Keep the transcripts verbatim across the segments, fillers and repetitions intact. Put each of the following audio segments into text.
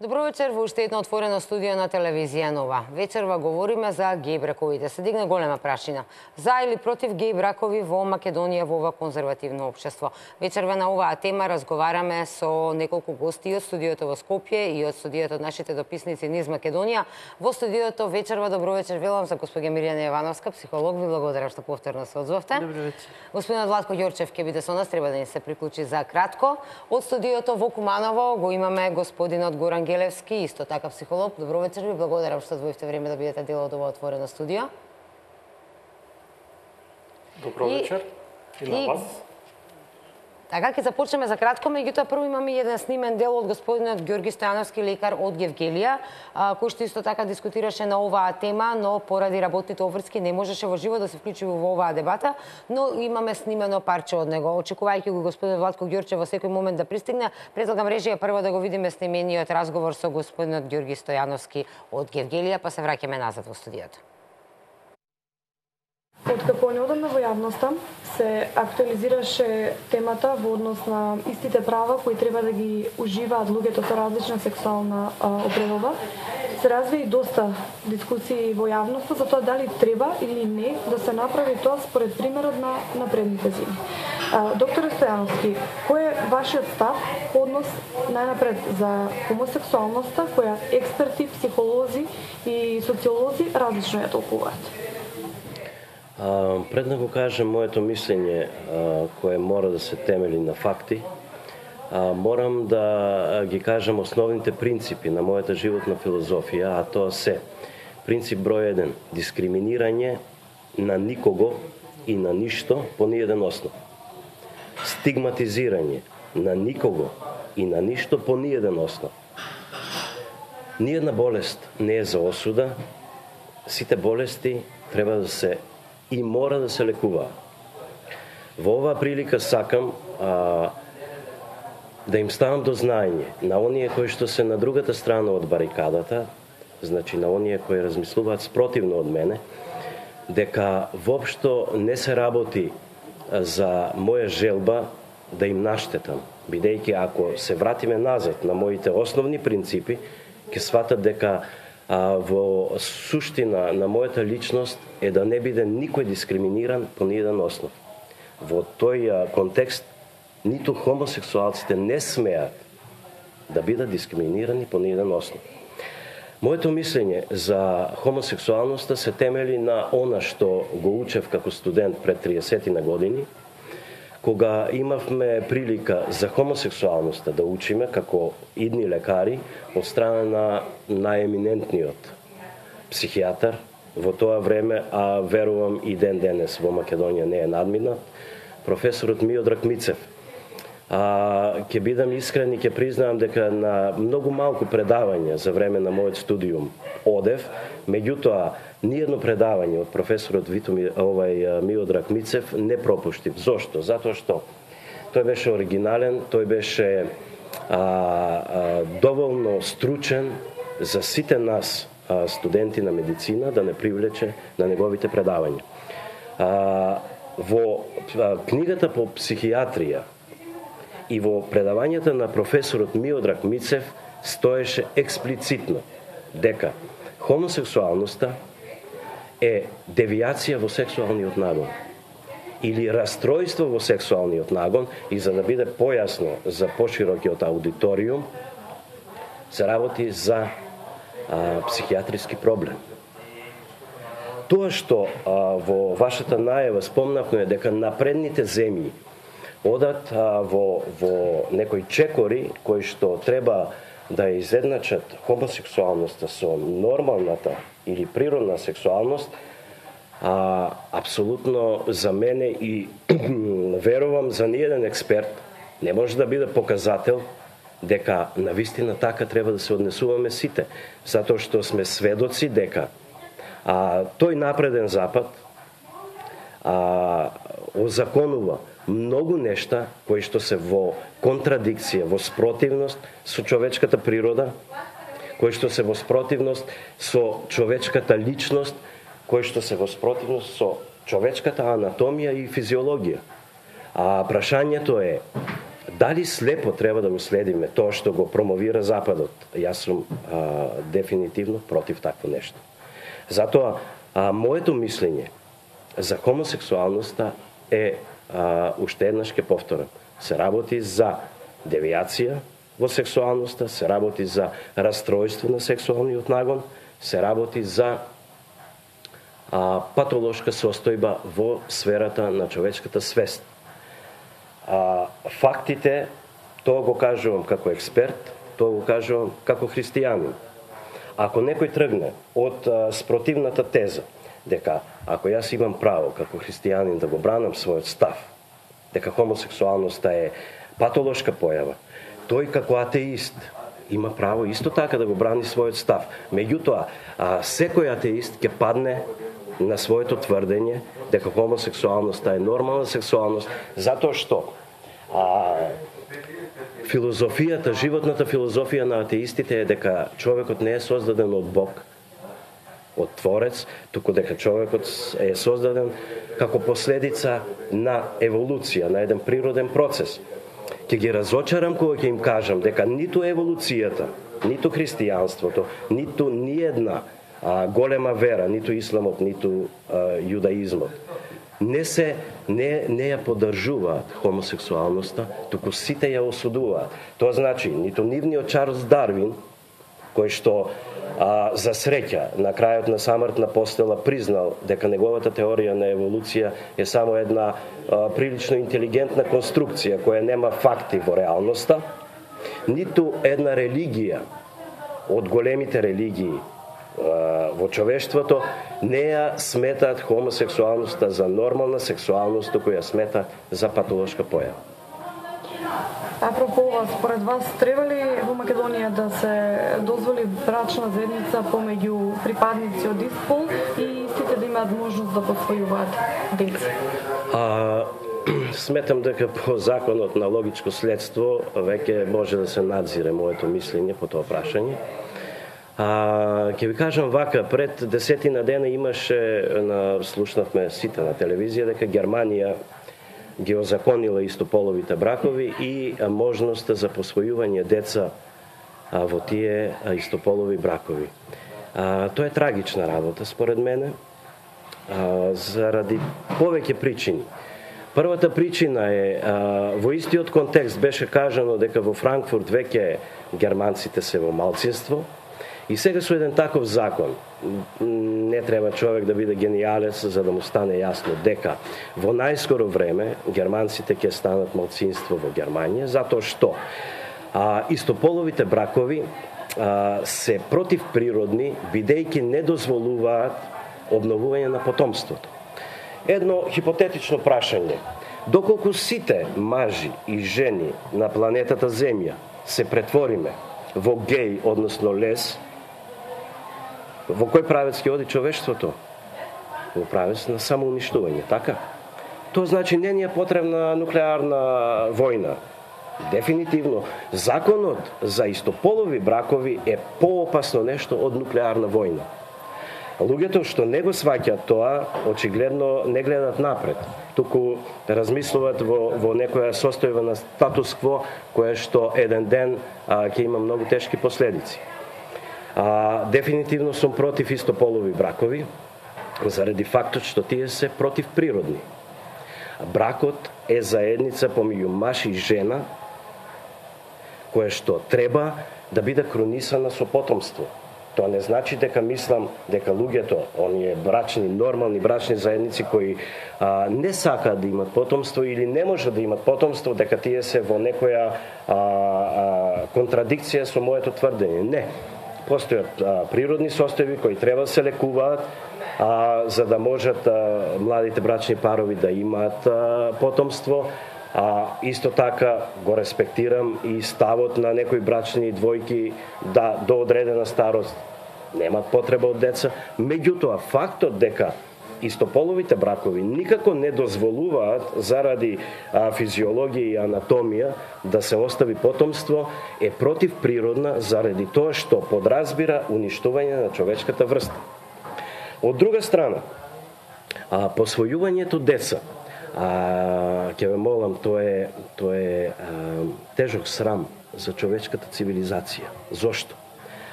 Добро вечер во уште едно отворено студио на телевизија Нова. Вечерва говориме за геј браковите. Се дигна голема прашина. За или против геј бракови во Македонија во ова конзервативно општество. Вечерва на оваа тема разговараме со неколку гости од студиото во Скопје и од студиото од нашите дописници низ Македонија. Во студиото вечерва добро вечер велам за госпоѓа Мирјана Јовановска, психолог. Ви благодарам што повторно се одзвавте. Добро вечер. Господинот Владко Ѓорчев ќе биде со нас, треба да ни се приклучи за кратко. Од студиото во Куманово го имаме господинот Горан Гелевски, исто така психолог. Добро вечер, ви благодарам што одвоивте време да бидете дел од ова отворено студио. Добро вечер и, и на вас. Така, ќе започнеме за кратко, меѓутоа прво имаме еден снимен дел од господинот Ѓорги Стојановски, лекар од Гевгелија, кој што исто така дискутираше на оваа тема, но поради работните обврски не можеше во живо да се вклучи во оваа дебата, но имаме снимено парче од него. Очекувајќи го господин Владко Ѓорчев во секој момент да пристигне, предлагам режија прво да го видиме снимениот разговор со господинот Ѓорги Стојановски од Гевгелија, па се враќаме назад во студиото. Откако неодамна во јавноста се актуализираше темата во однос на истите права кои треба да ги уживаат луѓето со различна сексуална определба, се разви и доста дискусии во јавноста за тоа дали треба или не да се направи тоа според примерот на напредните зими. Доктор Стојановски, кој е вашиот став по однос најнапред за хомосексуалноста, која експерти, психолози и социолози различно ја толкуваат? Uh, пред да го кажем моето мислење, uh, кое мора да се темели на факти, uh, морам да ги кажам основните принципи на мојата животна филозофија, а тоа се принцип број еден, дискриминирање на никого и на ништо по ниеден основ. Стигматизирање на никого и на ништо по ниеден основ. Ниедна болест не е за осуда, сите болести треба да се и мора да се лекува. Во оваа прилика сакам а, да им ставам до знаење на оние кои што се на другата страна од барикадата, значи на оние кои размислуваат спротивно од мене, дека воопшто не се работи за моја желба да им наштетам, бидејќи ако се вратиме назад на моите основни принципи, ќе сватат дека а, во суштина на мојата личност е да не биде никој дискриминиран по ниеден основ. Во тој а, контекст, ниту хомосексуалците не смеат да бидат дискриминирани по ниеден основ. Моето мислење за хомосексуалноста се темели на она што го учев како студент пред триесет на години, кога имавме прилика за хомосексуалноста да учиме како идни лекари од страна на најеминентниот психијатар во тоа време, а верувам и ден денес во Македонија не е надминат, професорот Миодраг Мицев. А, ќе бидам искрен и ќе признаам дека на многу малку предавања за време на мојот студиум одев, меѓутоа ниедно предавање од професорот Витомир овај Миодраг Мицев не пропуштив. Зошто? Затоа што тој беше оригинален, тој беше а, а, доволно стручен за сите нас а, студенти на медицина да не привлече на неговите предавања. А, во а, книгата по психијатрија и во предавањата на професорот Миодраг Мицев стоеше експлицитно дека хомосексуалноста е девијација во сексуалниот нагон или растројство во сексуалниот нагон, и за да биде појасно за поширокиот аудиториум, се работи за а, психијатриски проблем. Тоа што а, во вашата најава спомнавме дека напредните земји одат а, во, во некои чекори кои што треба да изедначат хомосексуалноста со нормалната или природна сексуалност, а, апсолутно за мене и верувам за ниеден експерт не може да биде показател дека навистина така треба да се однесуваме сите, затоа што сме сведоци дека а, тој напреден запад а, озаконува многу нешта кои што се во контрадикција, во спротивност со човечката природа, кои што се во спротивност со човечката личност, кои што се во спротивност со човечката анатомија и физиологија. А прашањето е Дали слепо треба да го следиме тоа што го промовира Западот? Јас сум а, дефинитивно против такво нешто. Затоа, а, моето мислење за хомосексуалноста е, а, уште еднаш ке повторам, се работи за девијација во сексуалноста, се работи за растројство на сексуалниот нагон, се работи за а, патолошка состојба во сферата на човечката свест. А, фактите, тоа го кажувам како експерт, тоа го кажувам како христијанин. Ако некој тргне од а, спротивната теза, дека ако јас имам право како христијанин да го бранам својот став, дека хомосексуалноста е патолошка појава, тој како атеист има право исто така да го брани својот став. Меѓутоа, а, секој атеист ќе падне на своето тврдење дека хомосексуалноста е нормална сексуалност, затоа што а, филозофијата, животната филозофија на атеистите е дека човекот не е создаден од Бог, од Творец, туку дека човекот е создаден како последица на еволуција, на еден природен процес. Ќе ги разочарам кога ќе им кажам дека ниту еволуцијата, ниту христијанството, ниту ниедна а, голема вера, ниту исламот, ниту а, јудаизмот, не се не не ја поддржуваат хомосексуалноста, туку сите ја осудуваат. Тоа значи ниту нивниот Чарлс Дарвин, кој што а, за среќа на крајот на самртна постела признал дека неговата теорија на еволуција е само една а, прилично интелигентна конструкција која нема факти во реалноста, ниту една религија од големите религии во човештвото не ја сметаат хомосексуалноста за нормална сексуалност, туку ја сметаат за патолошка појава. Апропо ова, според вас, треба ли во Македонија да се дозволи брачна заедница помеѓу припадници од ист пол и сите да имаат можност да посвојуваат деца? А, сметам дека по законот на логичко следство веќе може да се надзире моето мислење по тоа прашање. А, ќе ви кажам вака, пред десетина дена имаше, на, слушнавме сите на телевизија, дека Германија ги озаконила истополовите бракови и а, можноста за посвојување деца а, во тие а, истополови бракови. А, тоа е трагична работа, според мене, а, заради повеќе причини. Првата причина е, а, во истиот контекст беше кажано дека во Франкфурт веќе германците се во малцинство, и сега со еден таков закон, не треба човек да биде гениалец за да му стане јасно дека во најскоро време германците ќе станат малцинство во Германија, затоа што а, истополовите бракови а, се противприродни, бидејќи не дозволуваат обновување на потомството. Едно хипотетично прашање: доколку сите мажи и жени на планетата Земја се претвориме во геј, односно лес, во кој правец ќе оди човештвото? Во правец на самоуништување, така? Тоа значи не ни е потребна нуклеарна војна. Дефинитивно, законот за истополови бракови е поопасно нешто од нуклеарна војна. Луѓето што не го сваќаат тоа, очигледно не гледат напред, туку размислуваат во, во некоја состојба на статус-кво, која што еден ден а, ќе има многу тешки последици. А, дефинитивно сум против истополови бракови, заради фактот што тие се противприродни. Бракот е заедница помеѓу маж и жена, која што треба да биде кронисана со потомство. Тоа не значи дека мислам дека луѓето, оние брачни, нормални брачни заедници кои а, не сакаат да имат потомство или не може да имат потомство, дека тие се во некоја а, а, контрадикција со моето тврдење. Не. Постојат а, природни состојби кои треба да се лекуваат, а, за да можат а, младите брачни парови да имаат а, потомство. А, исто така го респектирам и ставот на некои брачни двојки да до одредена старост немат потреба од деца. Меѓутоа, фактот дека истополовите бракови никако не дозволуваат заради а, физиологија и анатомија да се остави потомство е противприродна заради тоа што подразбира уништување на човечката врста. Од друга страна, а, посвојувањето деца А, ќе ве молам, тоа е, тоа е а, тежок срам за човечката цивилизација. Зошто?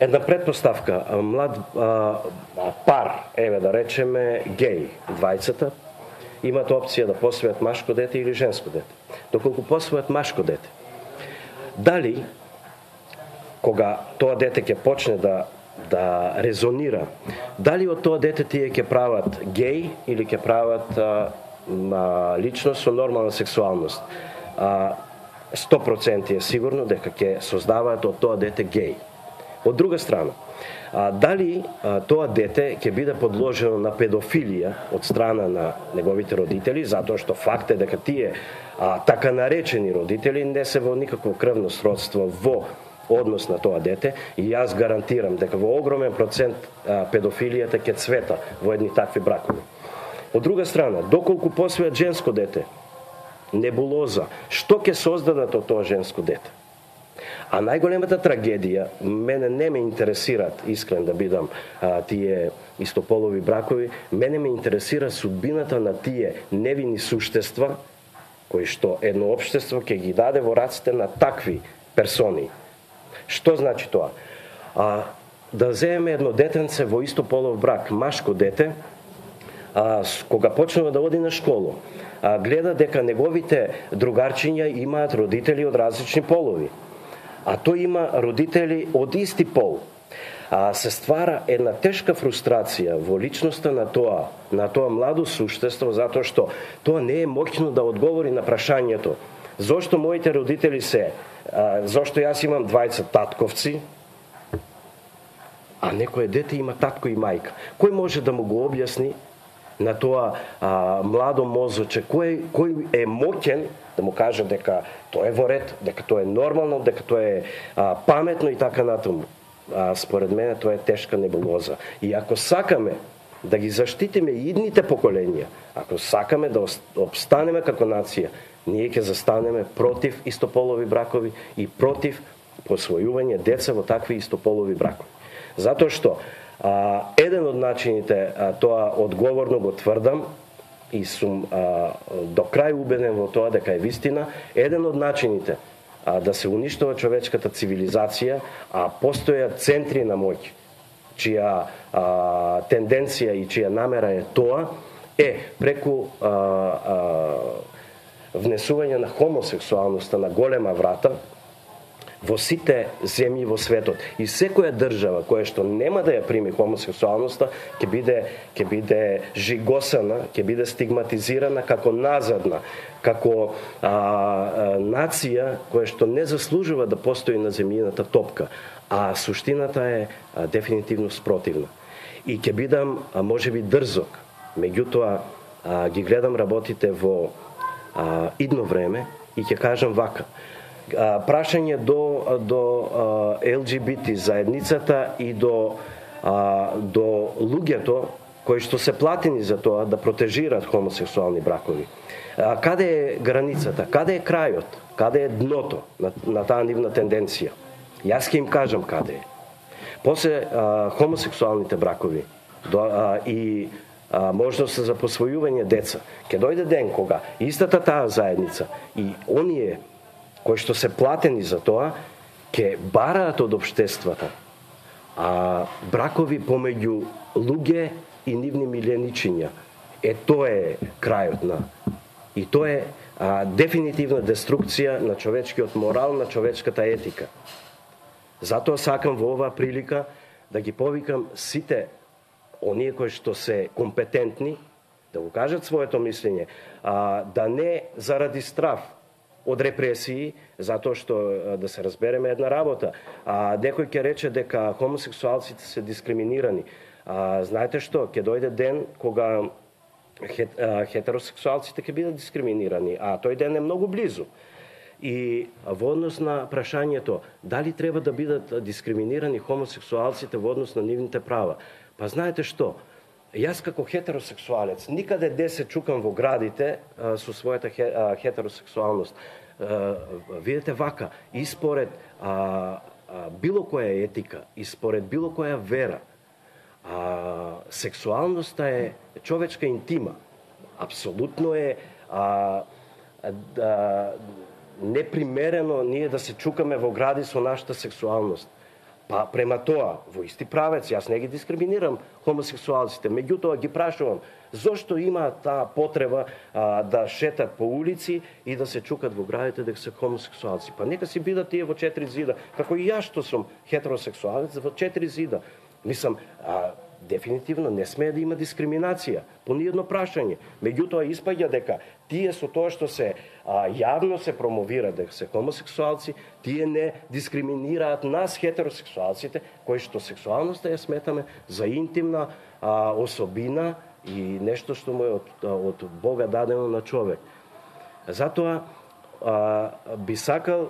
Една предпоставка, млад а, пар, еве да речеме геј, двајцата, имат опција да посвојат машко дете или женско дете. Доколку посвојат машко дете, дали кога тоа дете ќе почне да да резонира, дали од тоа дете тие ќе прават геј или ќе прават а, а, личност со нормална сексуалност, а, сто проценти е сигурно дека ќе создаваат од тоа дете геј. Од друга страна, а, дали а, тоа дете ќе биде подложено на педофилија од страна на неговите родители, затоа што факт е дека тие а, така наречени родители не се во никакво крвно сродство во однос на тоа дете, и јас гарантирам дека во огромен процент а, педофилијата ќе цвета во едни такви бракови. Од друга страна, доколку посвојат женско дете, небулоза, што ќе создадат од тоа женско дете? А најголемата трагедија, мене не ме интересираат, искрен да бидам, а, тие истополови бракови, мене ме интересира судбината на тие невини суштества, кои што едно општество ќе ги даде во раците на такви персони. Што значи тоа? А, да земеме едно детенце во истополов брак, машко дете, а, кога почнува да оди на школу, а, гледа дека неговите другарчиња имаат родители од различни полови, а тој има родители од исти пол. А, се ствара една тешка фрустрација во личноста на тоа, на тоа младо суштество, затоа што тоа не е моќно да одговори на прашањето зошто моите родители се, а, зошто јас имам двајца татковци, а некое дете има татко и мајка. Кој може да му го објасни на тоа а, младо мозоче, кој, кој е моќен да му каже дека тоа е во ред, дека тоа е нормално, дека тоа е а, паметно и така натаму. А, според мене тоа е тешка небулоза. И ако сакаме да ги заштитиме идните поколенија, ако сакаме да обстанеме како нација, ние ќе застанеме против истополови бракови и против посвојување деца во такви истополови бракови. Затоа што а, еден од начините, а, тоа одговорно го тврдам и сум а, до крај убеден во тоа дека е вистина, еден од начините а, да се уништува човечката цивилизација, а постојат центри на моќ, чија а, тенденција и чија намера е тоа, е преку а, а, внесување на хомосексуалноста на голема врата во сите земји во светот. И секоја држава која што нема да ја прими хомосексуалноста ќе биде ќе биде жигосана, ќе биде стигматизирана како назадна, како а, а, нација која што не заслужува да постои на земјината топка, а суштината е а, дефинитивно спротивна. И ќе бидам а, можеби дрзок, меѓутоа а, ги гледам работите во а, идно време и ќе кажам вака. А, прашање до до а, Ел Џи Би Ти заедницата и до а, до луѓето кои што се платени за тоа да протежираат хомосексуални бракови. А, каде е границата? Каде е крајот? Каде е дното на, на таа нивна тенденција? Јас ќе им кажам каде е. После а, хомосексуалните бракови до, а, и а, можност за посвојување деца, ќе дојде ден кога истата таа заедница и оние кои што се платени за тоа, ќе бараат од општествата а бракови помеѓу луѓе и нивни миленичиња. Е, тоа е крајот на. И тоа е а, дефинитивна деструкција на човечкиот морал, на човечката етика. Затоа сакам во оваа прилика да ги повикам сите оние кои што се компетентни да го кажат своето мислење, а, да не заради страв од репресии, затоа што да се разбереме една работа. А, некој ќе рече дека хомосексуалците се дискриминирани. А, знаете што, ќе дојде ден кога хет, а, хетеросексуалците ќе бидат дискриминирани, а тој ден е многу близу. И во однос на прашањето дали треба да бидат дискриминирани хомосексуалците во однос на нивните права. Па знаете што, јас како хетеросексуалец никаде де се чукам во градите а, со својата хе, а, хетеросексуалност. А, видете вака, и според а, а, било која етика, и според било која вера, А, сексуалноста е човечка интима. Апсолутно е а, а, непримерено ние да се чукаме во гради со нашата сексуалност. Па према тоа, во исти правец, јас не ги дискриминирам хомосексуалците, меѓутоа ги прашувам, зошто има таа потреба а, да шетат по улици и да се чукат во градите дека се хомосексуалци? Па нека си бидат тие во четири зида, како и јас што сум хетеросексуалец во четири зида. Мислам, а, дефинитивно не смее да има дискриминација по ниедно прашање. Меѓутоа испаѓа дека тие со тоа што се а, јавно се промовира дека се хомосексуалци, тие не дискриминираат нас хетеросексуалците, кои што сексуалноста ја сметаме за интимна а, особина и нешто што му е од, од Бога дадено на човек. Затоа а, би сакал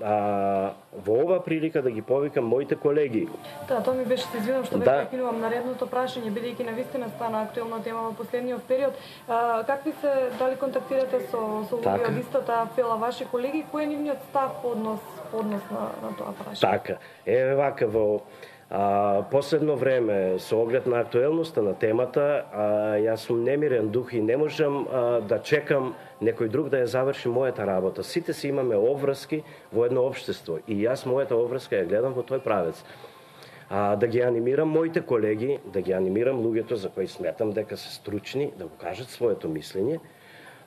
а, во ова прилика да ги повикам моите колеги. Да, тоа ми беше, се извинувам што веќе Да. прекинувам наредното прашање, бидејќи навистина стана актуелна тема во последниот период. А, какви се, дали контактирате со со луѓе Така. од истата апела ваши колеги, кој е нивниот став по однос по однос на на тоа прашање? Така, е вака во а, последно време со оглед на актуелноста на темата, а, јас сум немирен дух и не можам а, да чекам некој друг да ја заврши мојата работа. Сите си имаме обврски во едно општество и јас мојата обврска ја гледам во тој правец. А, да ги анимирам моите колеги, да ги анимирам луѓето за кои сметам дека се стручни, да го кажат своето мислење,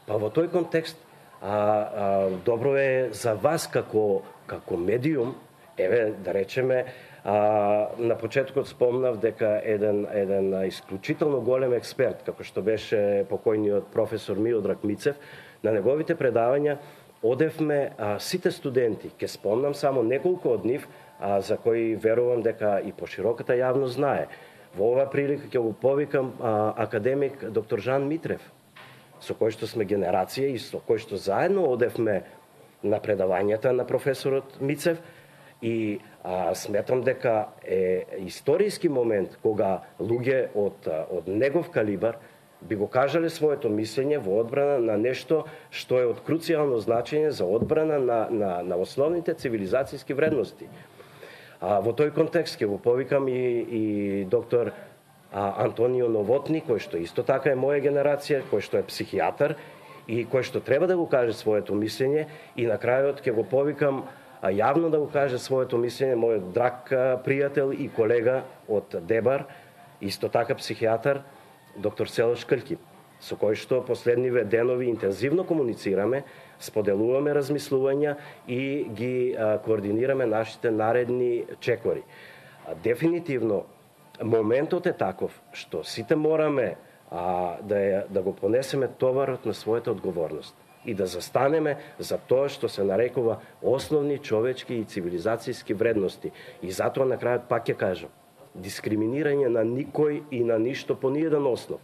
па во тој контекст а, а, добро е за вас како како медиум, еве да речеме, а, на почетокот спомнав дека еден еден исклучително голем експерт, како што беше покојниот професор Миодраг Мицев, на неговите предавања одевме а, сите студенти. Ке спомнам само неколку од нив, а, за кои верувам дека и пошироката јавност знае. Во оваа прилика ќе го повикам а, академик доктор Жан Митрев, со кој што сме генерација и со кој што заедно одевме на предавањата на професорот Мицев, и а, сметам дека е историски момент кога луѓе од, од негов калибар би го кажале своето мислење во одбрана на нешто што е од круцијално значење за одбрана на, на, на основните цивилизацијски вредности. А, во тој контекст ќе го повикам и, и доктор а, Антонио Новотни, кој што исто така е моја генерација, кој што е психијатар и кој што треба да го каже своето мислење, и на крајот ќе го повикам а јавно да го каже своето мислење мојот драг пријател и колега од Дебар, исто така психијатар, доктор Селош Крки, со кој што последниве денови интензивно комуницираме, споделуваме размислувања и ги а, координираме нашите наредни чекори. А, дефинитивно, моментот е таков што сите мораме а, да, ја, да го понесеме товарот на својата одговорност и да застанеме за тоа што се нарекува основни човечки и цивилизацијски вредности. И затоа на крајот пак ќе кажам, дискриминирање на никој и на ништо по ниеден основ.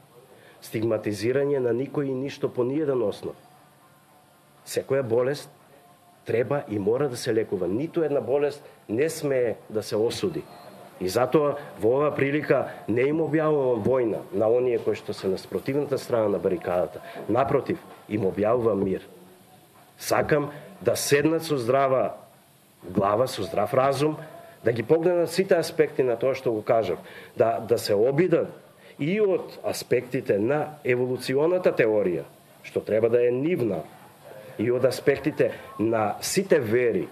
Стигматизирање на никој и ништо по ниеден основ. Секоја болест треба и мора да се лекува. Ниту една болест не смее да се осуди. И затоа во оваа прилика не им објавувам војна на оние кои што се на спротивната страна на барикадата. Напротив, им објавувам мир. Сакам да седнат со здрава глава, со здрав разум, да ги погледнат сите аспекти на тоа што го кажав, да, да се обидат и од аспектите на еволуционата теорија, што треба да е нивна, и од аспектите на сите вери,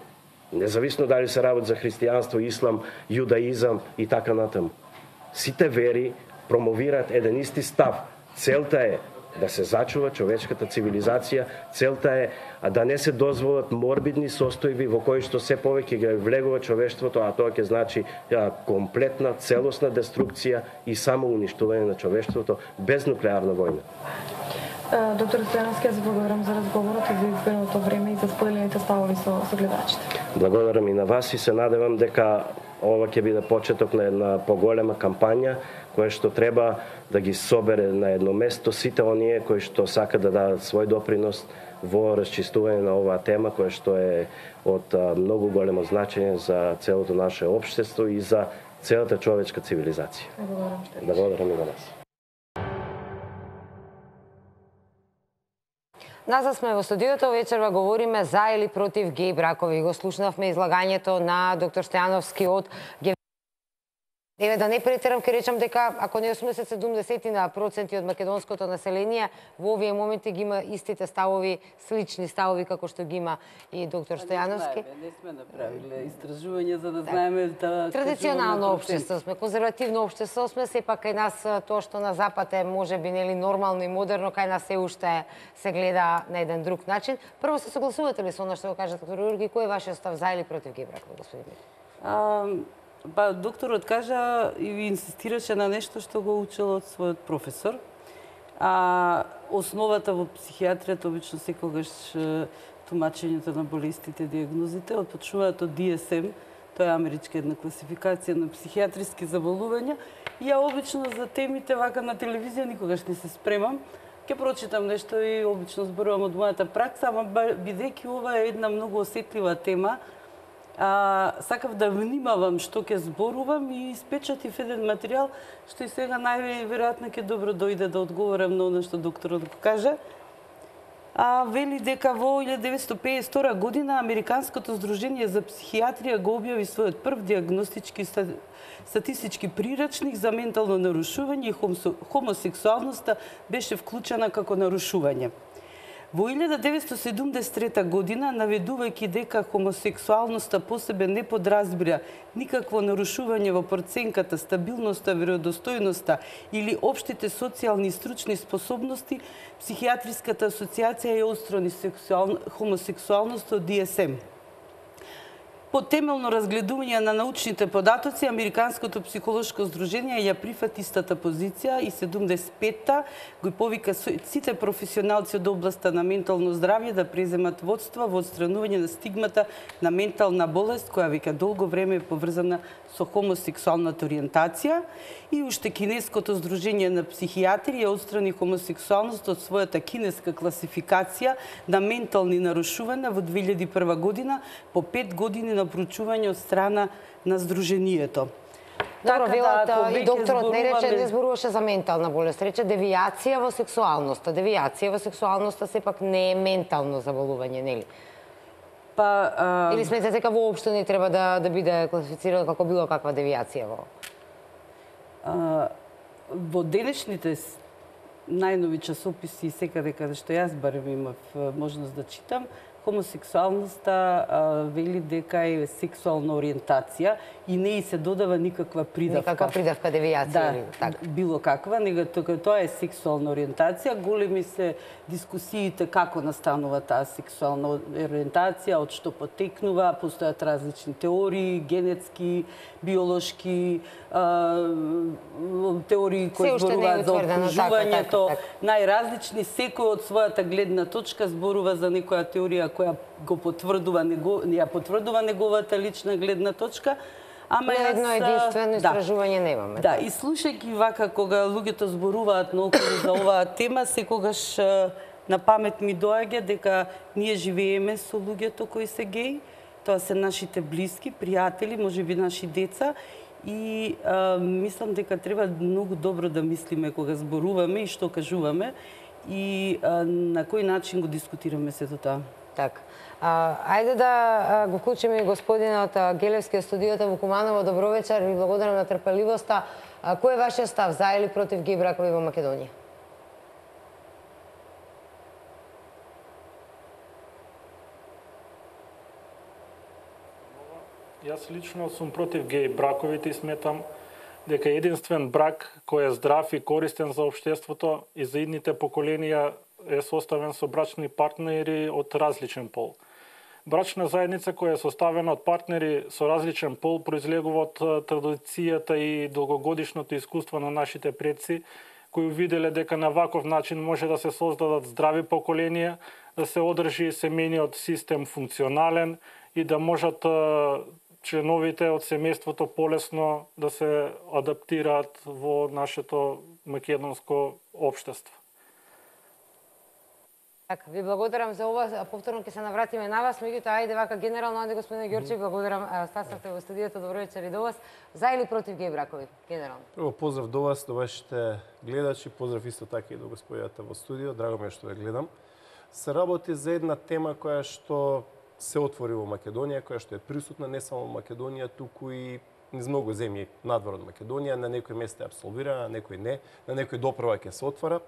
независно дали се работи за христијанство, ислам, јудаизам и така натаму. Сите вери промовираат еден исти став. Целта е да се зачува човечката цивилизација, целта е да не се дозволат морбидни состојби во кои што се повеќе ги влегува човештвото, а тоа ќе значи комплетна, целосна деструкција и само уништување на човештвото без нуклеарна војна. Доктор Стојановски, јас благодарам за разговорот и за избереното време и за споделените ставови со, со гледачите. Благодарам и на вас и се надевам дека ова ќе биде почеток на една поголема кампања која што треба да ги собере на едно место сите оние кои што сакаат да дадат свој допринос во расчистување на оваа тема која што е од многу големо значење за целото наше општество и за целата човечка цивилизација. Благодарам. Благодарам и на вас. Назад сме во студиото, вечерва говориме за или против геј бракови. Го слушнавме излагањето на доктор Стојановски од Еве да не претерам, ќе речам дека ако не осумдесет седумдесет на проценти од македонското население во овие моменти ги има истите ставови, слични ставови како што ги има и доктор Стојановски. Не сме направиле истражување за да знаеме да традиционално општество сме, конзервативно општество сме, сепак кај нас тоа што на запад е можеби нели нормално и модерно, кај нас се уште се гледа на еден друг начин. Прво се согласувате ли со она што го кажа доктор Јурги, кој е вашиот став за или против гей-бракови, господин? Па, докторот кажа и инсистираше на нешто што го учел од својот професор. А основата во психијатријата обично секогаш тумачењето на болестите, диагнозите, отпочнуваат од Ди Ес Ем, тоа е америчка една класификација на психијатриски заболувања. И ја обично за темите вака на телевизија никогаш не се спремам. Ќе прочитам нешто и обично зборувам од мојата пракса, ама бидејќи ова е една многу осетлива тема, А, сакав да внимавам што ќе зборувам и испечатив еден материјал што и сега најверојатно ќе добро дојде да одговорам на оно што докторот го кажа. А, вели дека во илјада деветстотини пеесет и втора година Американското здружение за психијатрија го објави својот прв диагностички статистички прирачник за ментално нарушување и хомосексуалноста беше вклучена како нарушување. Во илјада деветстотини седумдесет и трета година, наведувајќи дека хомосексуалноста по себе не подразбира никакво нарушување во проценката, стабилноста, веројдостојноста или општите социјални и стручни способности, Психијатриската асоциација ја отстрани хомосексуалноста од Ди Ес Ем. По темелно разгледување на научните податоци, Американското психолошко здружение ја прифати истата позиција и седумдесет и петта го повика сите професионалци од областа на ментално здравје да преземат водство во отстранување на стигмата на ментална болест, која веќе долго време е поврзана со хомосексуалната ориентација. И уште Кинеското здружение на психијатри ја отстрани хомосексуалност од својата кинеска класификација на ментални нарушувања во две илјади и прва година по пет години на проучување од страна на здруженијето. Добро, велат и докторот не рече, не зборуваше за ментална болест, рече девијација во сексуалноста. Девијација во сексуалноста сепак не е ментално заболување, нели? Па, а... Или сметате дека воопшто не треба да, да биде класифицирано како било каква девијација во? А, во денешните најнови часописи, секаде каде што јас барем имав можност да читам, хомосексуалноста вели дека е сексуална ориентација и не и се додава никаква придавка. Никаква придавка, девијација да, или така. Било каква, него тоа е сексуална ориентација. Големи се дискусиите како настанува таа сексуална ориентација, од што потекнува, постојат различни теории, генетски, биолошки, теории кои зборуваат за обкружувањето, најразлични, секој од својата гледна точка зборува за некоја теорија која го потврдува, ја потврдува неговата лична гледна точка. Ама јас едно единствено истражување немаме. Да, и слушајќи вака кога луѓето зборуваат наоколу за оваа тема, секогаш на памет ми доаѓа дека ние живееме со луѓето кои се геи, тоа се нашите блиски, пријатели, можеби наши деца, и а, мислам дека треба многу добро да мислиме кога зборуваме и што кажуваме и а, на кој начин го дискутираме сето тоа. Така. А, ајде да а, го вклучиме и господинот Гелевски од студиото во Куманово. Добро вечер, ви благодарам на трпеливоста. А, кој е вашиот став за или против геј бракови во Македонија? Јас лично сум против геј браковите и сметам дека единствен брак кој е здрав и користен за општеството и за идните поколенија е составен со брачни партнери од различен пол. Брачна заедница која е составена од партнери со различен пол произлегува од традицијата и долгогодишното искуство на нашите предци, кои увиделе дека на ваков начин може да се создадат здрави поколенија, да се одржи семејниот систем функционален и да можат членовите од семејството полесно да се адаптираат во нашето македонско општество. Така, ви благодарам за ова. Повторно ќе се навратиме на вас, меѓутоа ајде вака генерално, ајде господине Ѓорчев, благодарам, стаснавте во студиото. Добро вечер и до вас. За или против геј бракови, генерално? Прво поздрав до вас, до вашите гледачи, поздрав исто така и до господијата во студио. Драго ми е што ја гледам. Се работи за една тема која што се отвори во Македонија, која што е присутна не само во Македонија, туку и низ многу земји надвор од Македонија, на некои места е апсолвирана, на некои не, на некои доправа ќе се отвора.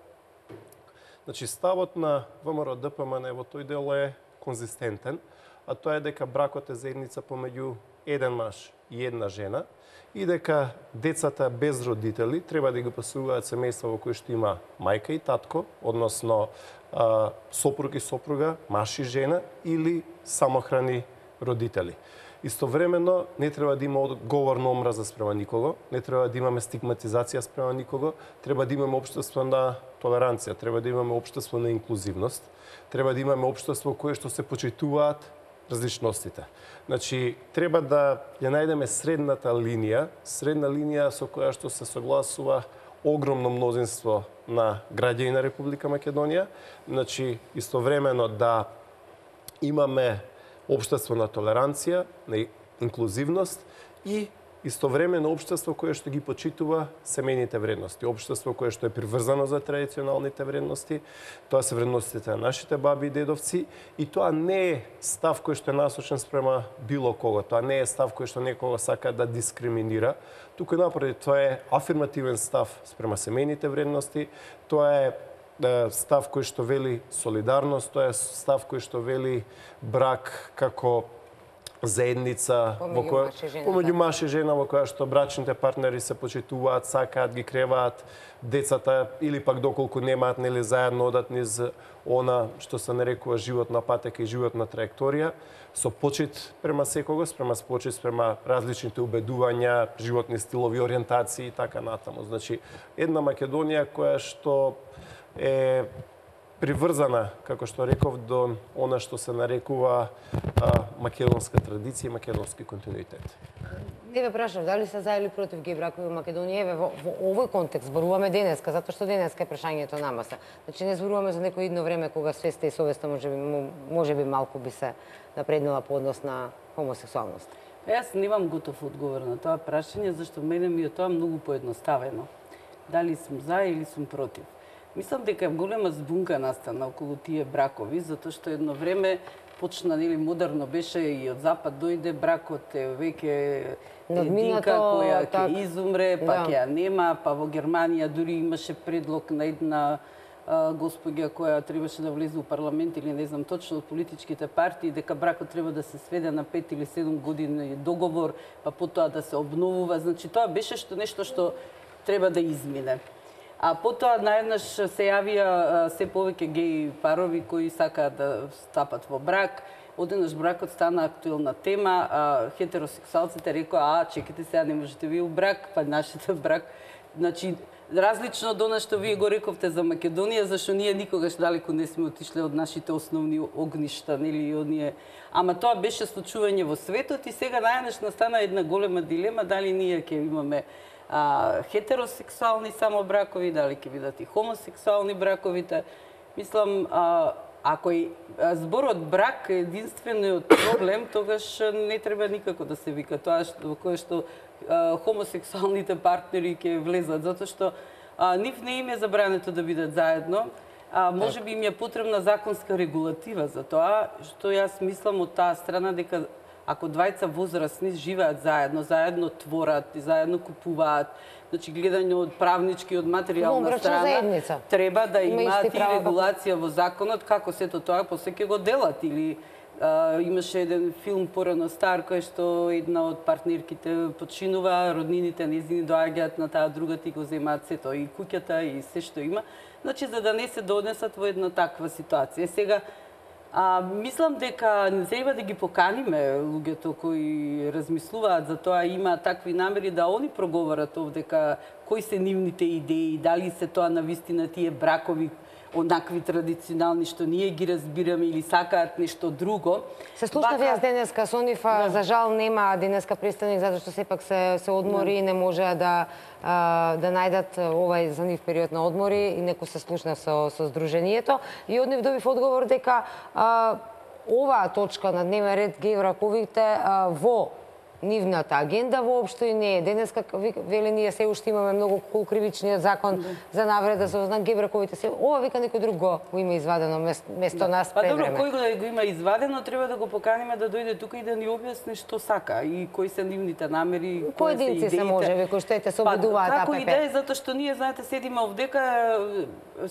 Значи, ставот на ВМРО Д П М Н во тој дел е конзистентен, а тоа е дека бракот е заедница помеѓу еден маж и една жена и дека децата без родители треба да ги посвојуваат семејства во кои што има мајка и татко, односно а, сопруг и сопруга, маж и жена или самохрани родители. Истовремено, не треба да има говор на омраза спрема никого, не треба да имаме стигматизација спрема никого, треба да имаме општество на толеранција, треба да имаме општество на инклузивност, треба да имаме општество кое што се почитуваат различностите. Значи, треба да ја најдеме средната линија, средна линија со која што се согласува огромно мнозинство на граѓани на Република Македонија, значи, истовремено да имаме општество на толеранција, на инклузивност и истовремено општество кое што ги почитува семејните вредности, општество кое што е приврзано за традиционалните вредности, тоа се вредностите на нашите баби и дедовци и тоа не е став кој што е насочен спрема било кого, тоа не е став кој што некого сака да дискриминира, туку напротив, тоа е афирмативен став спрема семејните вредности, тоа е став кој што вели солидарност, тоа е став кој што вели брак како заедница во која помеѓу маж и жена во која што брачните партнери се почитуваат, сакаат, ги креваат децата или пак доколку немаат нели заедно одат низ она што се нарекува живот на патека и живот на траекторија, со почит према секогаш, према почит спрема различните убедувања, животни стилови, ориентации и така натаму. Значи, една Македонија која што е приврзана, како што реков, до она што се нарекува а, македонска традиција и македонски континуитет. Не ве прашав, дали се за или против геј бракови во Македонија? Еве, во, во овој контекст зборуваме денеска, затоа што денеска е прашањето на маса. Значи, не зборуваме за некој идно време кога свеста и совеста може би, може би малку би се напреднала по однос на хомосексуалност. Јас немам готов одговор на тоа прашање, зашто мене ми е тоа многу поедноставено. Дали сум за или сум против. Мислам дека голема збунка настана околу тие бракови, затоа што едно време почна, нели, модерно беше и од запад дојде бракот е веќе единка која ќе так... изумре, па ќе да. ја нема, па во Германија дури имаше предлог на една а, господја која требаше да влезе во парламент или не знам точно од политичките партии, дека бракот треба да се сведе на пет или седум години договор, па потоа да се обновува. Значи тоа беше што нешто што треба да измине. А потоа наеднаш се јавија се повеќе геј парови кои сакаат да стапат во брак. Одеднаш бракот стана актуелна тема, а хетеросексуалците рекоа: "А, чекайте сега, не можете ви у брак, па нашите брак." Значи, различно од она што вие го рековте за Македонија, зашто ние никогаш далеку не сме отишле од нашите основни огништа, нели, оние. Ама тоа беше случување во светот и сега наеднаш настана една голема дилема дали ние ќе имаме А, хетеросексуални само бракови, дали ќе бидат и хомосексуални браковите. Мислам, а, ако и зборот брак е единствениот проблем, тогаш не треба никако да се вика тоа што, кое што а, хомосексуалните партнери ќе влезат, затоа што а, нив не им е забрането да бидат заедно, а може би им е потребна законска регулатива за тоа, што јас мислам од таа страна дека ако двајца возрастни живеат заедно, заедно творат, заедно купуваат, значи гледање од правнички, од материјална страна, треба да имаат и регулација во законот како сето тоа после ќе го делат. Или а, имаше еден филм порано стар кој што една од партнерките починува, роднините нејзини доаѓаат на таа другата и го земаат сето, и куќата и се што има. Значи за да не се донесат во една таква ситуација. Сега А, мислам дека не треба да ги поканиме луѓето кои размислуваат за тоа, има такви намери да они проговорат овдека кои се нивните идеи, дали се тоа навистина тие бракови онакви традиционални што ние ги разбираме или сакаат нешто друго. Се слушнав јас денеска со нив, да. За жал нема денеска представник затоа што сепак се се одмори и да. Не можеа да да најдат овај за нив период на одмори и некој се слушна со со здруженијето и од нив добив одговор дека а, оваа точка на дневен ред геј браковите во нивната агенда воопшто и не е. Денеска, вели, ние се уште имаме многу кул кривичниот закон за навреда за знак гей-браковите се. Ова вика некој друг го има извадено место нас пред време. Па добро, кој го, го има извадено, треба да го поканиме да дојде тука и да ни објасни што сака и кои се нивните намери, кои се идеите. Поединци се можеби кои што ете се обидуваат АПП. Како идеја, затоа што ние, знаете, седиме овдека,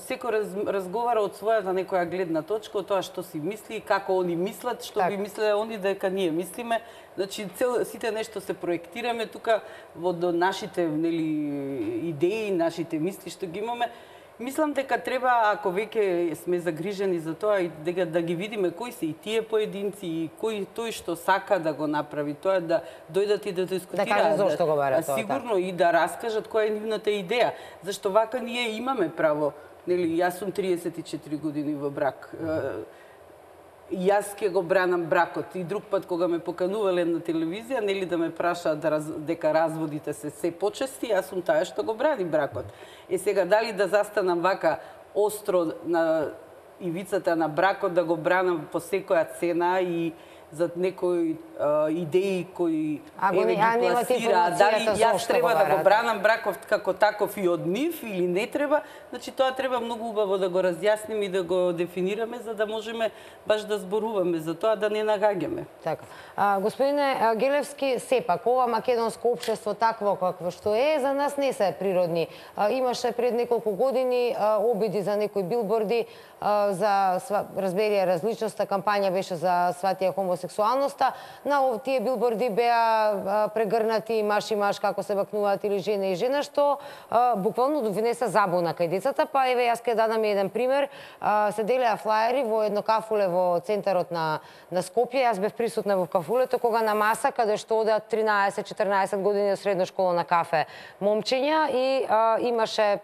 секој раз, разговара од својата некоја гледна точка, од тоа што си мисли, како они мислат, што так би мислеле они дека ние мислиме. Значи, цел, сите нешто се проектираме тука во до нашите, нели, идеи, нашите мисли што ги имаме. Мислам дека треба, ако веќе сме загрижени за тоа, и дека да ги видиме кои се и тие поединци, и кој тој што сака да го направи, тоа да дојдат и да дискутираат. Да кажат зошто го бара тоа. Сигурно и да раскажат која е нивната идеја. Зашто вака ние имаме право, нели, јас сум триесет и четири години во брак. Јас ќе го бранам бракот и друг пат кога ме поканувале на телевизија, нели да ме прашаат да раз, дека разводите се се почести, јас сум таа што го брани бракот. Е сега дали да застанам вака остро на ивицата на бракот, да го бранам по секоја цена и за некои а, идеи кои еве ги пласира, дали јас треба да го бранам бракот како таков и од нив или не треба, значи тоа треба многу убаво да го разјасниме и да го дефинираме за да можеме баш да зборуваме за тоа, да не нагаѓаме. Така. А, господине Гелевски, сепак ова македонско општество такво какво што е, за нас не се природни. А, имаше пред неколку години а, обиди за некои билборди а, за разберија различноста, кампања беше за сватија хомосексуалноста. На тие билборди беа прегрнати маш и маш како се бакнуваат или жена и жена, што а, буквално довнесе забуна кај децата. Па еве јас ќе дадам еден пример. А, се делеа флаери во едно кафуле во центарот на на Скопје. Јас бев присутна во кафулето кога на маса каде што одат тринаесет-четрнаесет години од средно школа на кафе момчиња и а, имаше